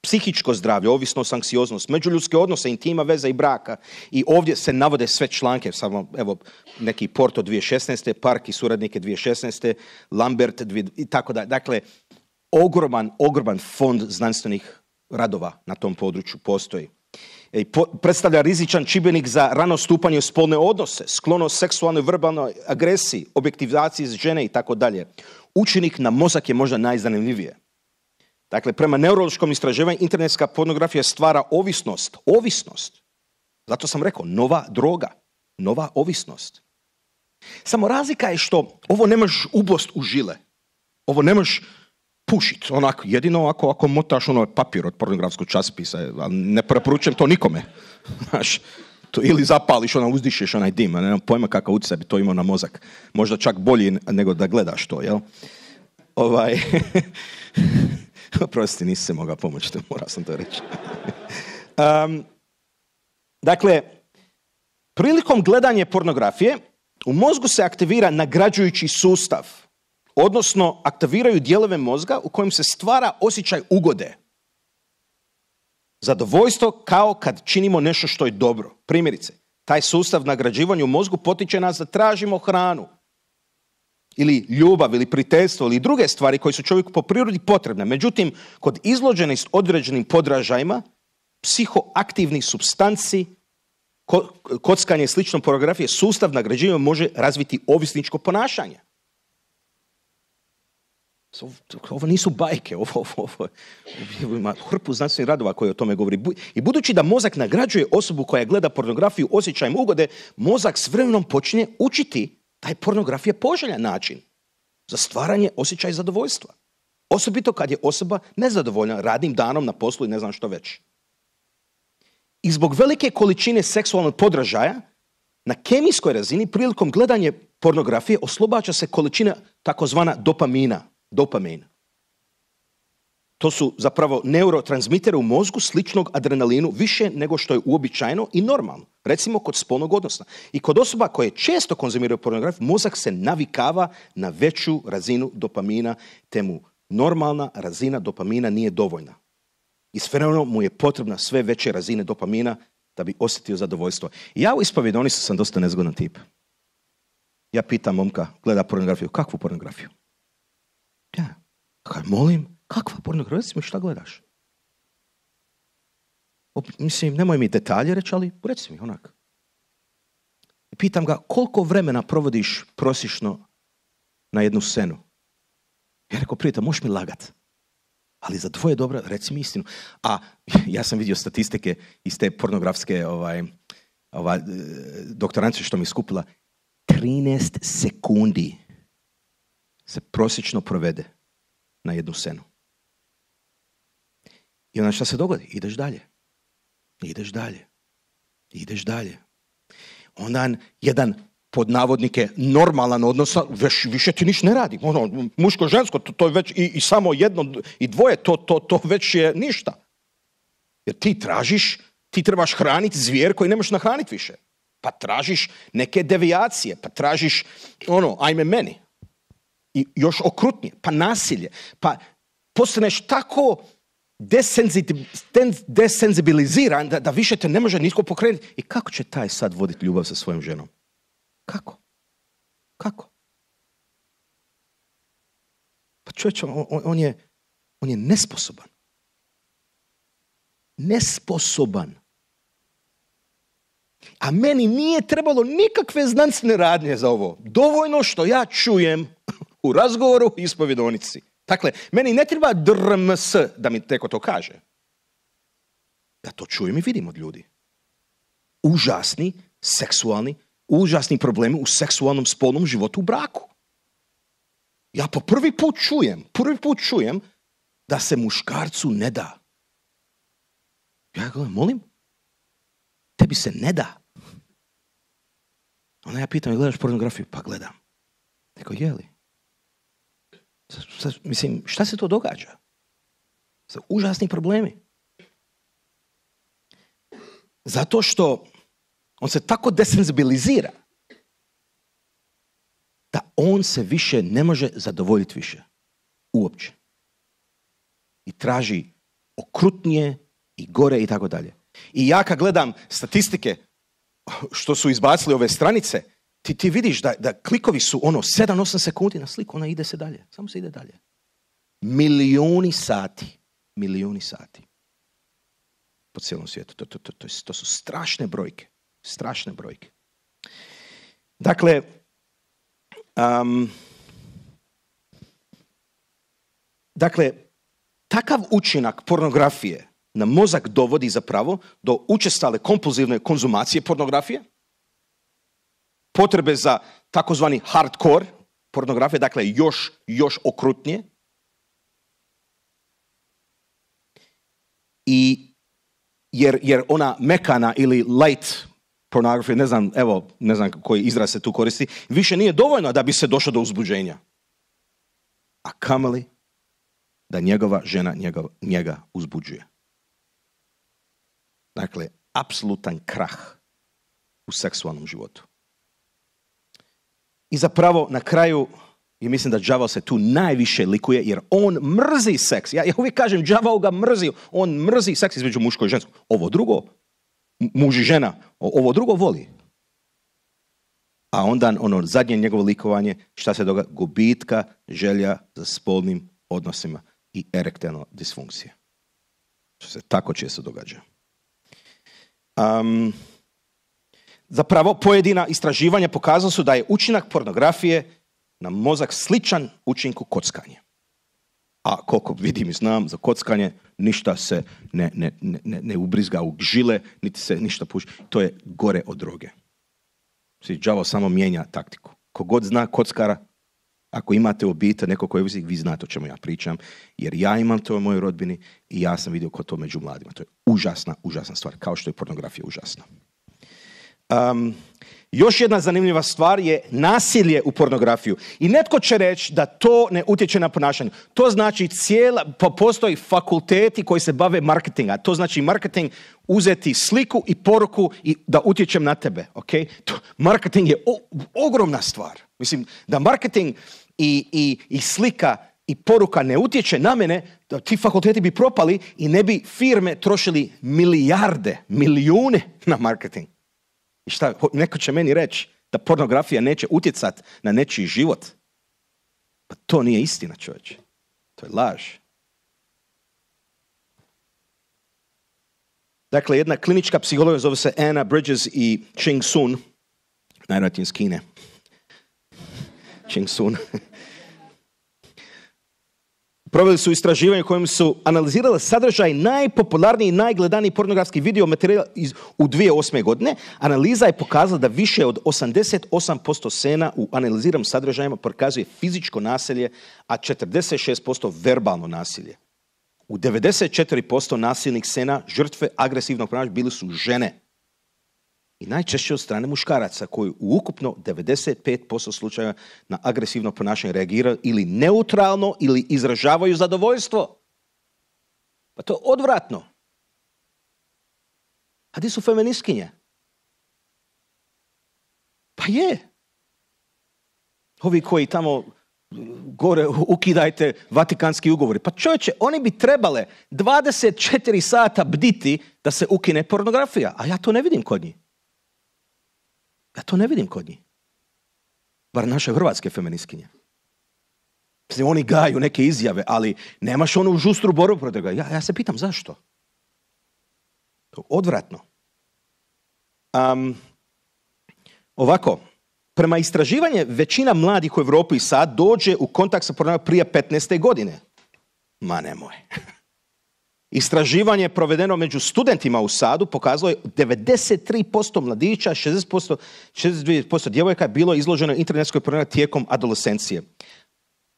Psihičko zdravlje, ovisnost, anksioznost, međuljudske odnose, intima, veza i braka. I ovdje se navode sve članke, samo evo neki Porto dvije tisuće šesnaeste, Park i suradnike dvije tisuće šesnaeste, Lambert i tako da. Dakle, ogroman, ogroman fond znanstvenih radova na tom području postoji. I po, predstavlja rizičan čimbenik za rano stupanje u spolne odnose, sklonost seksualnoj verbalnoj agresiji, objektizaciji žene i tako dalje. Učinak na mozak je možda najzanimljivije. Dakle, prema neurološkom istraživanju internetska pornografija stvara ovisnost. Ovisnost. Zato sam rekao, nova droga. Nova ovisnost. Samo razlika je što ovo ne možeš ubost u žile. Ovo ne možeš pušiti. Onako, jedino ako, ako motaš ono papir od pornografskog časopisa. Ali ne preporučujem to nikome. Znaš, to ili zapališ, ona uzdišeš onaj dim. A nemam pojma kakav utjecaj bi to imao na mozak. Možda čak bolji nego da gledaš to, jel? Ovaj... Prosti, nisi se mogao pomoći, morao sam to reći. um, dakle, prilikom gledanja pornografije u mozgu se aktivira nagrađujući sustav, odnosno aktiviraju dijelove mozga u kojem se stvara osjećaj ugode. Zadovoljstvo kao kad činimo nešto što je dobro. Primjerice, taj sustav nagrađivanja u mozgu potiče nas da tražimo hranu, ili ljubav, ili prijateljstvo, ili druge stvari koje su čovjeku po prirodi potrebne. Međutim, kod izloženih određenim podražajima, psihoaktivnih supstanci, kockanje i slično pornografije, sustav nagrađivanja može razviti ovisničko ponašanje. Ovo nisu bajke, ovo, ovo, ovo, ovo ima hrpu znanstvenih radova koji o tome govori. I budući da mozak nagrađuje osobu koja gleda pornografiju osjećajem ugode, mozak s vremenom počinje učiti taj pornografija poželjan način za stvaranje osjećaja zadovoljstva. Osobito kad je osoba nezadovoljna radnim danom na poslu i ne znam što već. I zbog velike količine seksualnog podražaja, na kemijskoj razini prilikom gledanja pornografije oslobađa se količina takozvana dopamina. Dopamin. To su zapravo neurotransmitere u mozgu sličnog adrenalinu više nego što je uobičajeno i normalno. Recimo kod spolnog odnosa. I kod osoba koje često konzumiraju pornografiju, mozak se navikava na veću razinu dopamina, te mu normalna razina dopamina nije dovoljna. I s vremenom mu je potrebna sve veće razine dopamina da bi osjetio zadovoljstvo. I ja u ispovjedonici sam dosta nezgodan tip. Ja pitam momka, gleda pornografiju. Kakvu pornografiju? Ja, kaj molim, kakva pornografija? Reci mi šta gledaš? O, mislim, nemoj mi detalje reći, ali reci mi onak. I pitam ga, koliko vremena provodiš prosječno na jednu scenu? Ja rekao, prijatelj, možeš mi lagat, ali za dvoje dobro, reci mi istinu. A ja sam vidio statistike iz te pornografske ovaj, ovaj, doktorancije što mi je skupila. trinaest sekundi se prosječno provede na jednu scenu. I onda šta se dogodi? Ideš dalje. Ideš dalje. Ideš dalje. Onda jedan, pod navodnike, normalan odnos, već, više ti niš ne radi. Ono, muško, žensko, to, to je već, i, i samo jedno, i dvoje, to, to, to već je ništa. Jer ti tražiš, ti trebaš hraniti zvijer koji ne možeš nahraniti više. Pa tražiš neke devijacije, pa tražiš, ono, ajme meni. I još okrutnije, pa nasilje, pa postaneš tako desenzibiliziran da, da više te ne može nitko pokrenuti. I kako će taj sad voditi ljubav sa svojom ženom? Kako? Kako? Pa čovječe, on, on, je, on je nesposoban. Nesposoban. A meni nije trebalo nikakve znanstvene radnje za ovo. Dovoljno što ja čujem u razgovoru i ispovjedonici. Dakle, meni ne treba drms da mi teko to kaže. Ja to čujem i vidim od ljudi. Užasni, seksualni, užasni problemi u seksualnom spolnom životu u braku. Ja po prvi put čujem, prvi put čujem da se muškarcu ne da. Ja gledam, molim, tebi se ne da. Onda ja pitam, gledaš pornografiju? Pa gledam. Neko, je li? Mislim, šta se to događa? Za užasni problemi. Zato što on se tako desenzibilizira da on se više ne može zadovoljiti više. Uopće. I traži okrutnije i gore i tako dalje. I ja kad gledam statistike što su izbacili ove stranice, ti, ti vidiš da, da klikovi su ono sedam osam sekundi na sliku, ona ide se dalje. Samo se ide dalje. Milijuni sati. Milijuni sati. Po cijelom svijetu. To, to, to, to, to su strašne brojke. Strašne brojke. Dakle, um, dakle, takav učinak pornografije na mozak dovodi zapravo do učestale kompulzivne konzumacije pornografije, potrebe za takozvani hardcore pornografije, dakle još, još okrutnije. I jer, jer ona mekana ili light pornografija, ne znam, evo, ne znam koji izraz se tu koristi, više nije dovoljno da bi se došlo do uzbuđenja. A kamoli da njegova žena njega, njega uzbuđuje. Dakle, apsolutan krah u seksualnom životu. I zapravo na kraju, i mislim da đavao se tu najviše likuje, jer on mrzi seks. Ja, ja uvijek kažem, đavao ga mrzi. On mrzi seks između muško i žensko. Ovo drugo, muž i žena, ovo drugo voli. A onda ono zadnje njegovo likovanje, šta se događa? Gubitka želja za spolnim odnosima i erektilna disfunkcija. Što se tako često događa. Um, zapravo, pojedina istraživanja pokazala su da je učinak pornografije na mozak sličan učinku kockanja. A koliko vidim i znam, za kockanje ništa se ne, ne, ne, ne ubrizga u žile, niti se ništa puši. To je gore od droge. Đavo samo mijenja taktiku. Kogod zna kockara, ako imate u obitelji neko koji je, vi znate o čemu ja pričam, jer ja imam to u mojoj rodbini i ja sam vidio ko to među mladima. To je užasna, užasna stvar, kao što je pornografija užasna. Um, još jedna zanimljiva stvar je nasilje u pornografiju. I netko će reći da to ne utječe na ponašanje. To znači cijela, postoji fakulteti koji se bave marketinga. To znači marketing uzeti sliku i poruku i da utječem na tebe. Okay? To, marketing je o, ogromna stvar. Mislim, da marketing i, i, i slika i poruka ne utječe na mene, da ti fakulteti bi propali i ne bi firme trošili milijarde, milijune na marketing. I šta, neko će meni reći da pornografija neće utjecati na nečiji život. Pa to nije istina, čovječe. To je laž. Dakle, jedna klinička psihologa zove se Anna Bridges i Ching Sun, najvjerojatnije iz Kine. Ching Sun. Proveli su istraživanje u kojem su analizirali sadržaj najpopularniji i najgledaniji pornografski video materijal iz, u dvije tisuće osme. godine. Analiza je pokazala da više od osamdeset osam posto scena u analiziranim sadržajima prikazuje fizičko nasilje, a četrdeset šest posto verbalno nasilje. U devedeset četiri posto nasilnih scena žrtve agresivnog ponašanja bili su žene. I najčešće od strane muškaraca koji u ukupno devedeset pet posto slučajeva na agresivno ponašanje reagiraju ili neutralno ili izražavaju zadovoljstvo. Pa to je odvratno. A gdje su feministkinje? Pa je. Ovi koji tamo gore ukidajte Vatikanski ugovori. Pa čovječe, oni bi trebale dvadeset četiri sata bditi da se ukine pornografija. A ja to ne vidim kod njih. Ja to ne vidim kod njih. Bar naše hrvatske feministkinje. Oni gaju neke izjave, ali nemaš onu žustru borbu protiv toga. Ja, ja se pitam zašto. Odvratno. Um, ovako, prema istraživanju većina mladih u Europi i sad dođe u kontakt sa pornografijom prije petnaeste. godine. Ma nemoj. Istraživanje provedeno među studentima u Sadu pokazalo je devedeset tri posto mladića, šezdeset posto, šezdeset dva posto djevojaka je bilo izloženo internetskoj pornografiji tijekom adolescencije.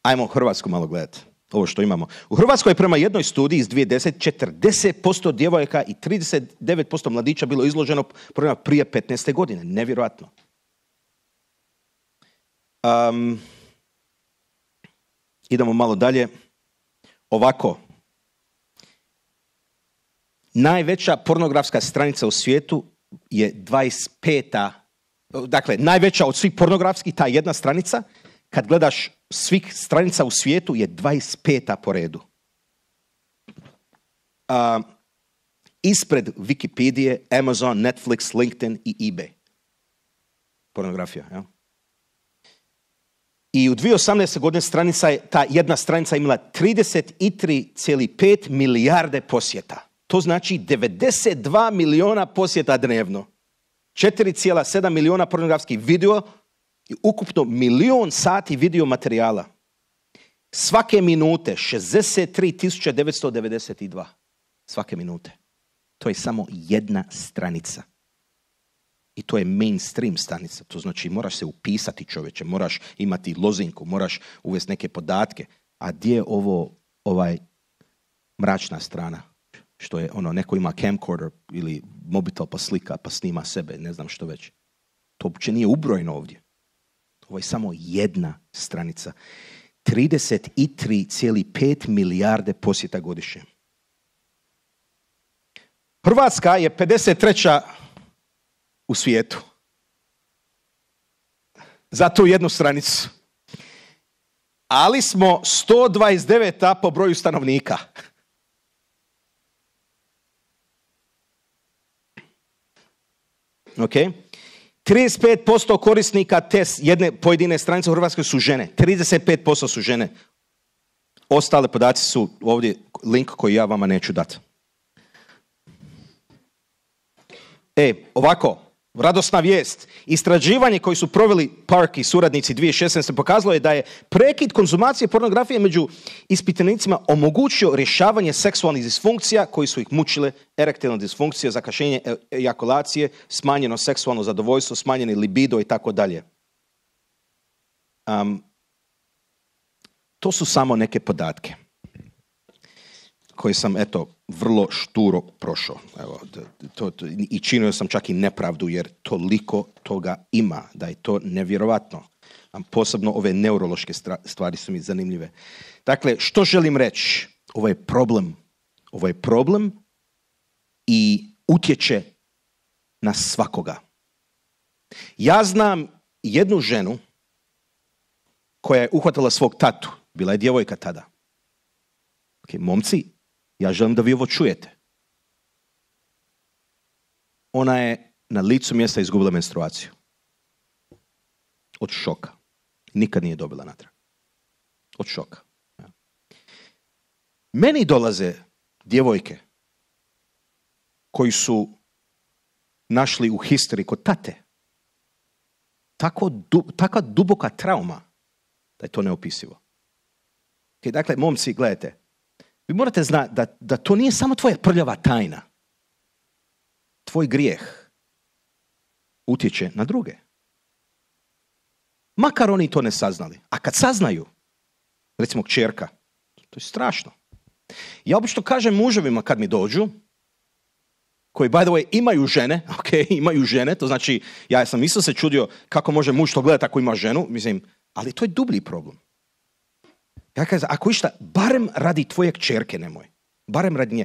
Ajmo Hrvatsku malo gledati, ovo što imamo. U Hrvatskoj je prema jednoj studiji iz dvije tisuće desete. četrdeset posto djevojaka i trideset devet posto mladića bilo izloženo pornografiji prije petnaeste. godine. Nevjerojatno. Um, idemo malo dalje. Ovako. Najveća pornografska stranica u svijetu je dvadeset peta. Dakle, najveća od svih pornografskih, ta jedna stranica, kad gledaš svih stranica u svijetu, je dvadeset peta po redu. Uh, ispred Wikipedije, Amazon, Netflix, LinkedIn i eBay. Pornografija, ja? I u dvije tisuće osamnaeste. godine stranica je, ta jedna stranica imala trideset tri zarez pet milijarde posjeta. To znači devedeset dva miliona posjeta dnevno. četiri zarez sedam miliona pornografskih video i ukupno milion sati video materijala. Svake minute šezdeset tri tisuće devetsto devedeset dva. Svake minute. To je samo jedna stranica. I to je mainstream stranica. To znači moraš se upisati, čovječe, moraš imati lozinku, moraš uvesti neke podatke. A gdje je ovo, ovaj mračna strana? Što je ono, neko ima camcorder ili mobitel pa slika pa snima sebe, ne znam što već. To uopće nije ubrojeno ovdje. Ovo je samo jedna stranica. trideset tri zarez pet milijarde posjeta godišnje. Hrvatska je pedeset treća u svijetu. Za tu jednu stranicu. Ali smo sto dvadeset deveta po broju stanovnika. Ok? trideset pet posto korisnika te jedne pojedine stranice u Hrvatskoj su žene. trideset pet posto su žene. Ostale podaci su ovdje link koji ja vama neću dati. E, ovako, radosna vijest. Istraživanje koji su proveli Park i suradnici dvije tisuće šesnaeste pokazalo je da je prekid konzumacije pornografije među ispitanicima omogućio rješavanje seksualnih disfunkcija koji su ih mučile, erektilna disfunkcija, zakašnjenje ejakulacije, smanjeno seksualno zadovoljstvo, smanjeni libido i tako dalje. Um, to su samo neke podatke koje sam, eto, vrlo šturo prošao. Evo, to, to, i činio sam čak i nepravdu, jer toliko toga ima, da je to nevjerovatno. A posebno ove neurološke stvari su mi zanimljive. Dakle, što želim reći? Ovo je problem. Ovo je problem i utječe na svakoga. Ja znam jednu ženu koja je uhvatila svog tatu. Bila je djevojka tada. Ok, momci, ja želim da vi ovo čujete. Ona je na licu mjesta izgubila menstruaciju. Od šoka. Nikad nije dobila natrag. Od šoka. Meni dolaze djevojke koji su našli u historiji kod tate. Tako, du, taka duboka trauma da je to neopisivo. Okay, dakle, momci, gledajte, vi morate znati da, da to nije samo tvoja prljava tajna. Tvoj grijeh utječe na druge. Makar oni to ne saznali. A kad saznaju, recimo kćerka, to je strašno. Ja obično kažem muževima kad mi dođu, koji, by the way, imaju žene, ok, imaju žene, to znači, ja sam isto se čudio kako može muž to gledati ako ima ženu, mislim, ali to je dublji problem. Ja kažem, ako išta, barem radi tvoje kćerke nemoj. Barem radi nje.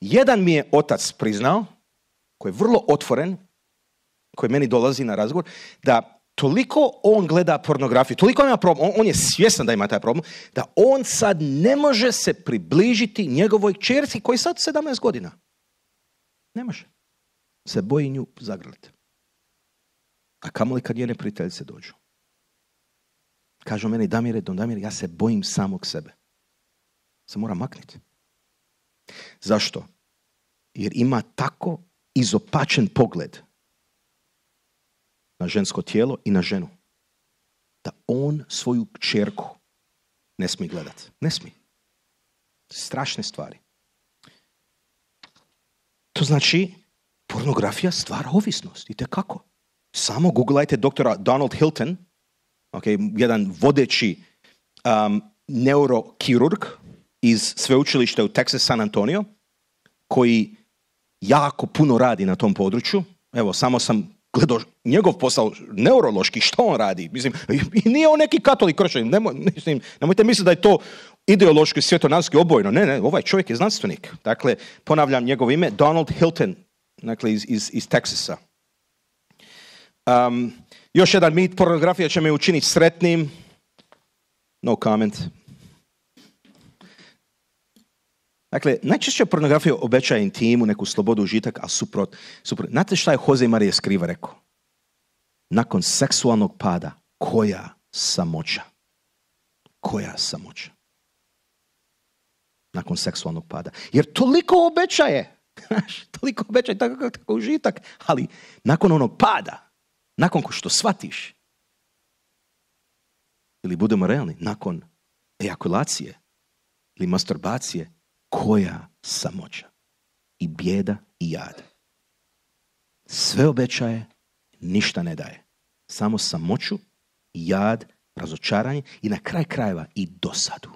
Jedan mi je otac priznao, koji je vrlo otvoren, koji meni dolazi na razgovor, da toliko on gleda pornografiju, toliko ima problem, on, on je svjestan da ima taj problem, da on sad ne može se približiti njegovoj kćerci koji je sad sedamnaest godina. Ne može. Se boji nju zagrliti. A kamoli kad njene prijateljice dođu. Kažu meni, Damire, Don Damire, ja se bojim samog sebe. Se mora makniti. Zašto? Jer ima tako izopačen pogled na žensko tijelo i na ženu. Da on svoju kćerku ne smije gledati. Ne smije. Strašne stvari. To znači, pornografija stvara ovisnost. I kako? Samo googlajte doktora Donald Hilton, okay, jedan vodeći um, neurokirurg iz sveučilišta u Texas San Antonio, koji jako puno radi na tom području. Evo, samo sam gledao njegov posao neurološki, što on radi. Mislim, i nije on neki katolik kršćanin. Nemoj, mislim, nemojte misliti da je to ideološki, svjetonazorski obojno. Ne, ne, ovaj čovjek je znanstvenik. Dakle, ponavljam njegovo ime, Donald Hilton, dakle, iz, iz, iz Teksasa. Um, još jedan mit, pornografija će me učiniti sretnim. No comment. Dakle, najčešće pornografija obećaje intimu, neku slobodu, užitak, a suprot, suprot. Znate šta je Jose Maria Escriva rekao? Nakon seksualnog pada, koja samoća? Koja samoća? Nakon seksualnog pada. Jer toliko obećaje. toliko obećaje, tako, tako užitak. Ali nakon onog pada, nakon što shvatiš, ili budemo realni, nakon ejakulacije ili masturbacije, koja samoća i bijeda i jad. Sve obećaje, ništa ne daje. Samo samoću, jad, razočaranje i na kraj krajeva i dosadu.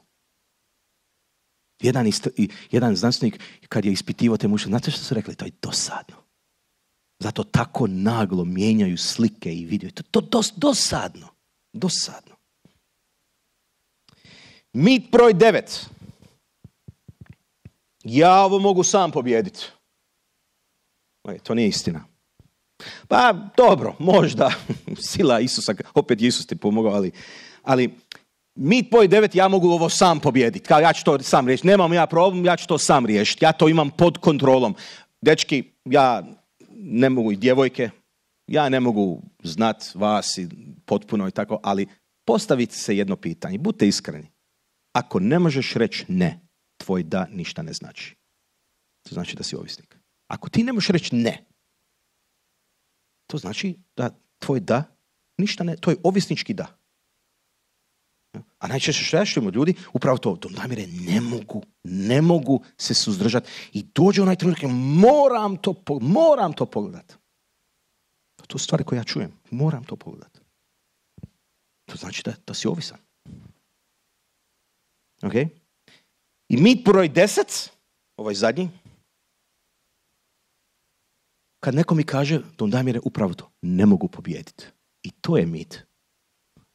Jedan, ist, jedan znanstvenik kad je ispitivao te muške, znate što su rekli? To je dosadno. Zato tako naglo mijenjaju slike i video. To je to dos, dosadno. Dosadno. Mit broj devet. Ja ovo mogu sam pobijediti. To nije istina. Pa dobro, možda. Sila Isusa, opet Isus ti pomogao, ali, ali mit broj devet, ja mogu ovo sam pobijediti. Kao ja ću to sam riješiti. Nemam ja problem, ja ću to sam riješiti. Ja to imam pod kontrolom. Dečki, ja ne mogu i djevojke, ja ne mogu znat vas i potpuno i tako, ali postavite se jedno pitanje. Budite iskreni. Ako ne možeš reći ne, tvoj da ništa ne znači. To znači da si ovisnik. Ako ti ne možeš reći ne, to znači da tvoj da ništa ne, to je ovisnički da. A najčešće što ja čujem od ljudi, upravo to, Don Damire, ne mogu, ne mogu se suzdržati. I dođe onaj trenutak, moram to, moram to pogledati. To su stvari koje ja čujem, moram to pogledati. To znači da, da si ovisan. Ok? I mit broj deset, ovaj zadnji, kad neko mi kaže, Don Damire, upravo to, ne mogu pobijediti. I to je mit.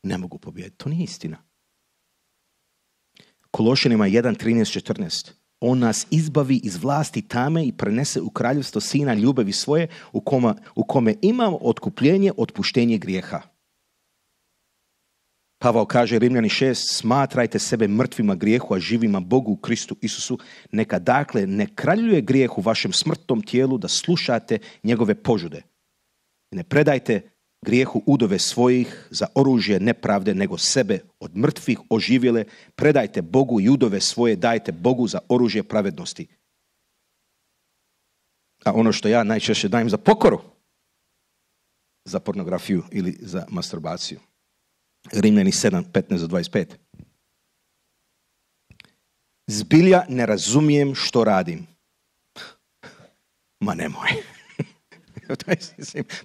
Ne mogu pobijediti. To nije istina. Kološanima jedan, trinaest, četrnaest. On nas izbavi iz vlasti tame i prenese u kraljevstvo sina ljubavi svoje, u kome, u kome imamo otkupljenje, otpuštenje grijeha. Pavao kaže, Rimljani šest, smatrajte sebe mrtvima grijehu, a živima Bogu u Kristu Isusu. Neka dakle ne kraljuje grijeh u vašem smrtnom tijelu da slušate njegove požude. Ne predajte grijehu udove svojih za oružje nepravde, nego sebe od mrtvih oživjele. Predajte Bogu i udove svoje dajte Bogu za oružje pravednosti. A ono što ja najčešće dajem za pokoru, za pornografiju ili za masturbaciju. Rimljani sedam, petnaest do dvadeset pet. Zbilja ne razumijem što radim. Ma nemoj.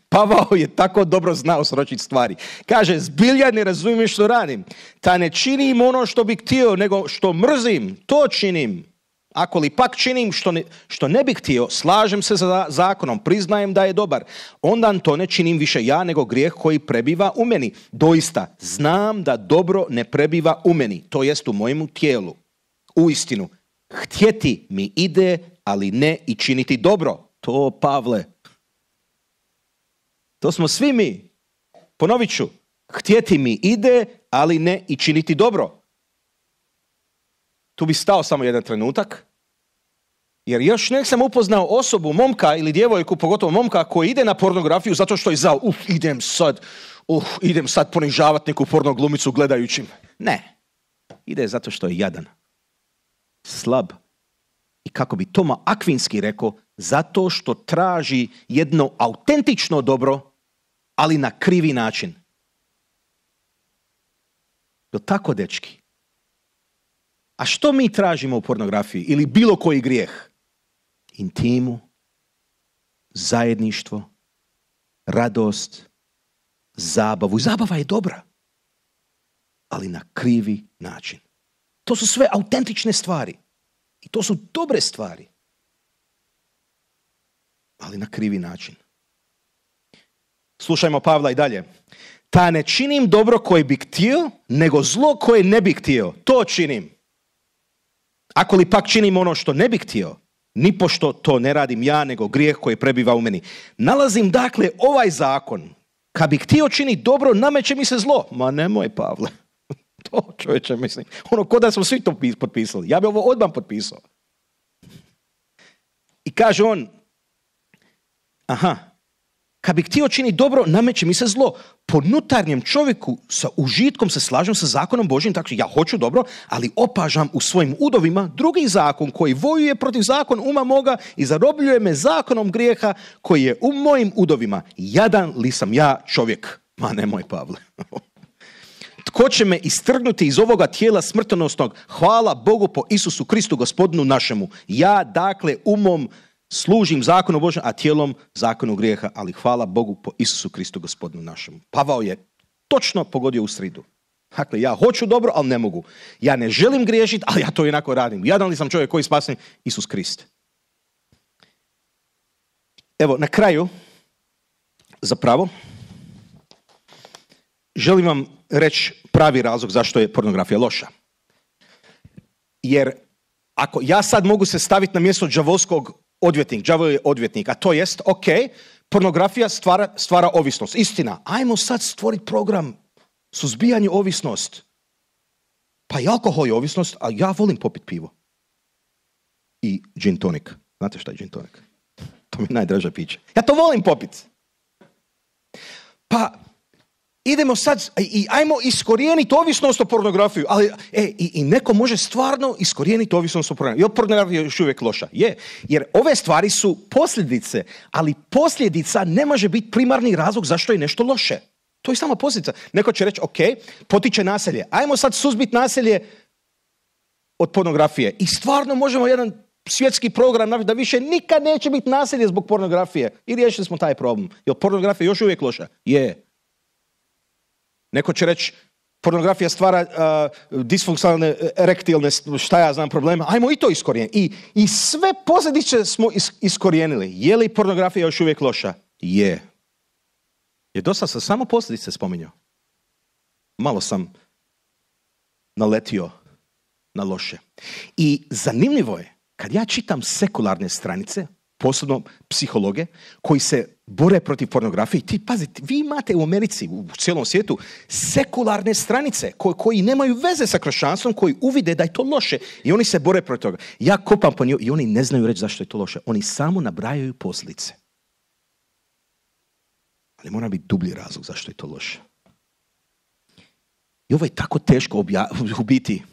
Pavao je tako dobro znao sročiti stvari. Kaže, zbilja ne razumijem što radim. Ta ne činim ono što bih htio, nego što mrzim, to činim. Ako li pak činim što ne, što ne bih htio, slažem se sa zakonom, priznajem da je dobar. Onda to ne činim više ja, nego grijeh koji prebiva u meni. Doista, znam da dobro ne prebiva u meni, to jest u mojemu tijelu. Uistinu, htjeti mi ide, ali ne i činiti dobro. To, Pavle, to smo svi mi. Ponovit ću, htjeti mi ide, ali ne i činiti dobro. Tu bi stao samo jedan trenutak, jer još nek sam upoznao osobu, momka ili djevojku, pogotovo momka, koji ide na pornografiju zato što je zao, uf, idem sad, uf, idem sad ponižavati neku porno glumicu gledajućim. Ne, ide zato što je jadan, slab i kako bi Toma Akvinski rekao, zato što traži jedno autentično dobro, ali na krivi način. Je tako, dečki? A što mi tražimo u pornografiji ili bilo koji grijeh? Intimu, zajedništvo, radost, zabavu. Zabava je dobra, ali na krivi način. To su sve autentične stvari. I to su dobre stvari. Ali na krivi način. Slušajmo Pavla i dalje. Ta ne činim dobro koje bih htio, nego zlo koje ne bih htio. To činim. Ako li pak činim ono što ne bih htio, nipošto to ne radim ja, nego grijeh koji prebiva u meni. Nalazim dakle ovaj zakon. Kad bih htio činiti dobro, nameće mi se zlo. Ma nemoj, Pavle. To, čovječe, mislim. Ono, ko da smo svi to potpisali. Ja bih ovo odmah potpisao. I kaže on, aha, kad bih htio činiti dobro, nameće mi se zlo. Po unutarnjem čovjeku sa užitkom se slažem sa zakonom Božjim, tako ja hoću dobro, ali opažam u svojim udovima drugi zakon koji vojuje protiv zakon uma moga i zarobljuje me zakonom grijeha koji je u mojim udovima. Jadan li sam ja čovjek? Ma nemoj, Pavle. tko će me istrgnuti iz ovoga tijela smrtonosnog? Hvala Bogu po Isusu Kristu, gospodinu našemu. Ja, dakle, umom služim zakonu Božjem, a tijelom zakonu grijeha, ali hvala Bogu po Isusu Kristu, gospodinu našemu. Pavao je točno pogodio u sridu. Dakle, ja hoću dobro, ali ne mogu. Ja ne želim griješiti, ali ja to jednako radim. Jadan li sam čovjek koji spasen? Isus Krist. Evo, na kraju, zapravo, želim vam reći pravi razlog zašto je pornografija loša. Jer ako ja sad mogu se staviti na mjesto đavolskog odvjetnika, đavol je odvjetnik, a to jest, ok, pornografija stvara, stvara ovisnost. Istina, ajmo sad stvoriti program suzbijanje ovisnost. Pa i alkohol je ovisnost, a ja volim popiti pivo. I gin tonic. Znate šta je gin tonic? To mi je najdraža pića. Ja to volim popiti. Pa idemo sad i ajmo iskorijeniti ovisnost o pornografiju. Ali, e, i, i neko može stvarno iskorijeniti ovisnost o pornografiju. Je pornografija još uvijek loša? Je. Jer ove stvari su posljedice, ali posljedica ne može biti primarni razlog zašto je nešto loše. To je samo posljedica. Neko će reći, ok, potiče nasilje. Ajmo sad suzbiti nasilje od pornografije. I stvarno možemo jedan svjetski program napraviti da više nikad neće biti nasilje zbog pornografije. I riješili smo taj problem. Jer pornografija još uvijek loša? Je. Neko će reći, pornografija stvara uh, disfunkcionalne, erektilne, šta ja znam, problema. Ajmo i to iskorijeniti. I, i sve posljedice smo is, iskorijenili. Je li pornografija još uvijek loša? Je. Jer dosta sam samo posljedice spominjao. Malo sam naletio na loše. I zanimljivo je, kad ja čitam sekularne stranice, posebno psihologe, koji se bore protiv pornografije, ti pazite, vi imate u Americi, u cijelom svijetu, sekularne stranice koji, koji nemaju veze sa kršćanstvom, koji uvide da je to loše i oni se bore protiv toga. Ja kopam po njoj i oni ne znaju reći zašto je to loše. Oni samo nabrajaju posljedice. Ali mora biti dublji razlog zašto je to loše. I ovo je tako teško objaviti. U biti,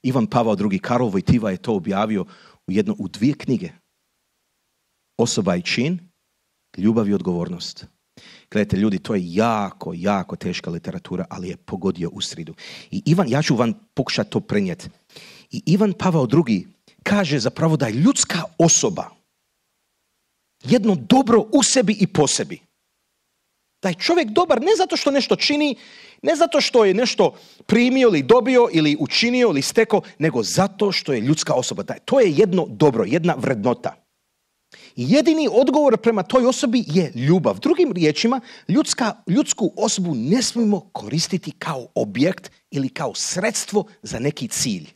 Ivan Pavao drugi. Karol Wojtyła je to objavio u, jedno, u dvije knjige. Osoba i čin, ljubav i odgovornost. Gledajte, ljudi, to je jako, jako teška literatura, ali je pogodio u sridu. I Ivan, ja ću vam pokušati to prenijeti. I Ivan Pavao drugi kaže zapravo da je ljudska osoba jedno dobro u sebi i po sebi. Da je čovjek dobar ne zato što nešto čini, ne zato što je nešto primio ili dobio ili učinio ili stekao, nego zato što je ljudska osoba. To je jedno dobro, jedna vrednota. I jedini odgovor prema toj osobi je ljubav. Drugim riječima, ljudska, ljudsku osobu ne smijemo koristiti kao objekt ili kao sredstvo za neki cilj.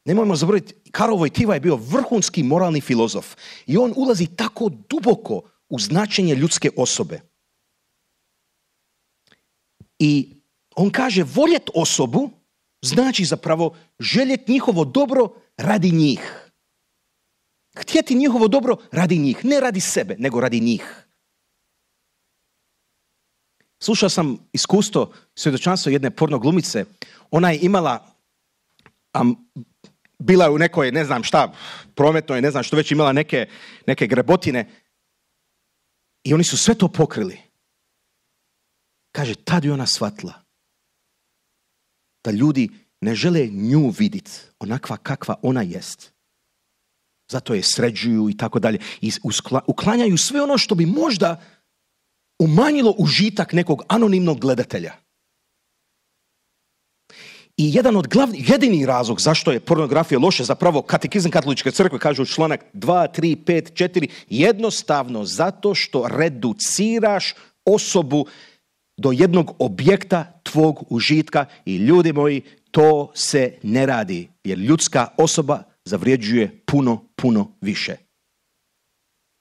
Nemojmo zaboraviti, Karol Wojtyła je bio vrhunski moralni filozof i on ulazi tako duboko u značenje ljudske osobe. I on kaže, voljet osobu znači zapravo željet njihovo dobro radi njih. Htjeti njihovo dobro radi njih, ne radi sebe, nego radi njih. Slušao sam iskustvo, svjedočanstvo jedne porno glumice. Ona je imala, um, bila je u nekoj, ne znam šta, prometnoj, ne znam što već, imala neke, neke grebotine. I oni su sve to pokrili. Kaže, tad je ona shvatila da ljudi ne žele nju vidjeti onakva kakva ona jest. Zato je sređuju i tako dalje. I uklanjaju sve ono što bi možda umanjilo užitak nekog anonimnog gledatelja. I jedan od glavnih, jedini razlog zašto je pornografija loša, zapravo Katekizam Katoličke crkve kaže u članak dva, tri, pet, četiri, jednostavno zato što reduciraš osobu do jednog objekta tvog užitka i ljudi moji, to se ne radi, jer ljudska osoba zavređuje puno, puno više.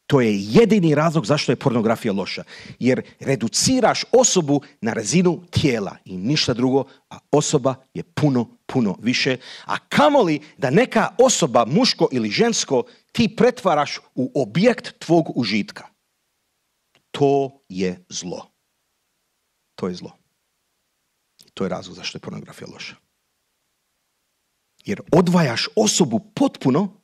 To je jedini razlog zašto je pornografija loša. Jer reduciraš osobu na razinu tijela i ništa drugo, a osoba je puno, puno više. A kamoli da neka osoba, muško ili žensko, ti pretvaraš u objekt tvog užitka. To je zlo. To je zlo. To je razlog zašto je pornografija loša. Jer odvajaš osobu potpuno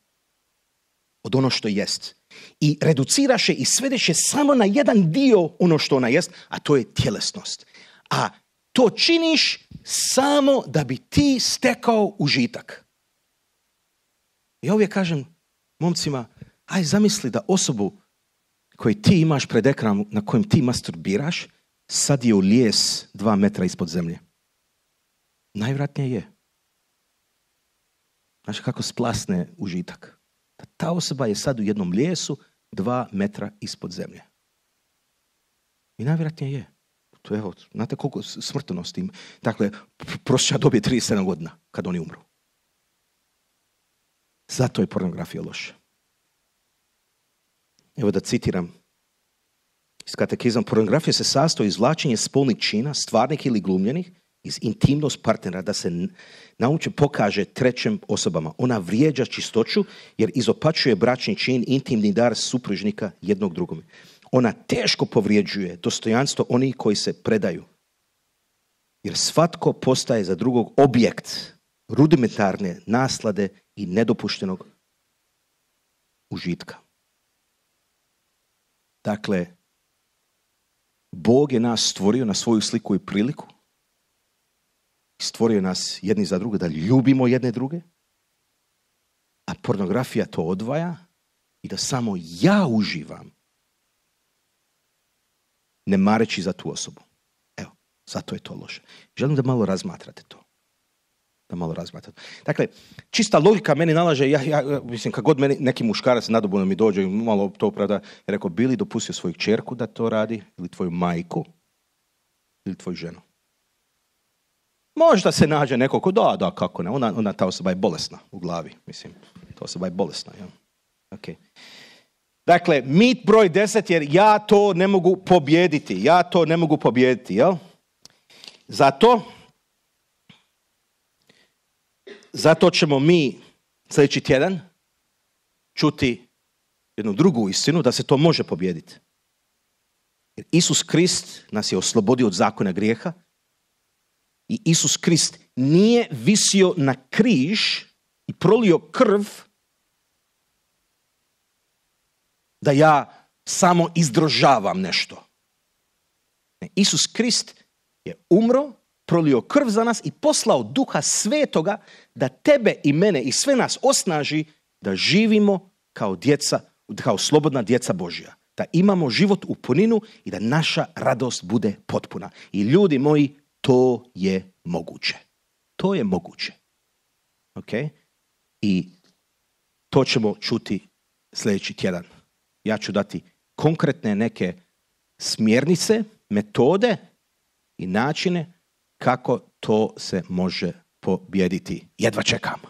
od ono što jest. I reduciraš je i svedeš je samo na jedan dio ono što ona jest, a to je tjelesnost. A to činiš samo da bi ti stekao užitak. Ja uvijek kažem momcima, aj zamisli da osobu koju ti imaš pred ekranom na kojem ti masturbiraš, sad je u lijes dva metra ispod zemlje. Najvjerojatnije je. Znaš kako splasne užitak? Da ta osoba je sad u jednom lijesu dva metra ispod zemlje. I najvjerojatnije je. To je, evo, znate koliko smrtnosti ima. Dakle, prosječna dob je trideset sedam godina kad oni umru. Zato je pornografija loša. Evo da citiram iz katekizma. Pornografija se sastoji iz izvlačenja spolnih čina, stvarnih ili glumljenih, iz intimnost partnera, da se nauče pokaže trećim osobama. Ona vrijeđa čistoću jer izopačuje bračni čin, intimni dar supružnika jednog drugome. Ona teško povrijeđuje dostojanstvo onih koji se predaju. Jer svatko postaje za drugog objekt rudimentarne naslade i nedopuštenog užitka. Dakle, Bog je nas stvorio na svoju sliku i priliku. Stvorio nas jedni za druge da ljubimo jedne druge. A pornografija to odvaja i da samo ja uživam, ne mareći za tu osobu. Evo, zato je to loše. Želim da malo razmatrate to. Da malo razmatrate. Dakle, čista logika meni nalaže, ja, ja mislim, kad god meni neki muškarac nadobudno mi dođe, malo to opravda, je rekao, bi li dopustio svoju kćerku da to radi, ili tvoju majku, ili tvoju ženu? Možda se nađe neko ko, da, da, kako ne, ona, ona ta osoba je bolesna u glavi, mislim, ta osoba je bolesna, jel? Okay. Dakle, mit broj deset, jer ja to ne mogu pobijediti, ja to ne mogu pobijediti, jel? Zato, zato ćemo mi sljedeći tjedan čuti jednu drugu istinu, da se to može pobijediti. Jer Isus Krist nas je oslobodio od zakona grijeha i Isus Krist nije visio na križ i prolio krv da ja samo izdržavam nešto. Ne, Isus Krist je umro, prolio krv za nas i poslao Duha Svetoga da tebe i mene i sve nas osnaži da živimo kao djeca, kao slobodna djeca Božja. Da imamo život u puninu i da naša radost bude potpuna. I ljudi moji, to je moguće. To je moguće. Okay? I to ćemo čuti sljedeći tjedan. Ja ću dati konkretne neke smjernice, metode i načine kako to se može pobijediti. Jedva čekam.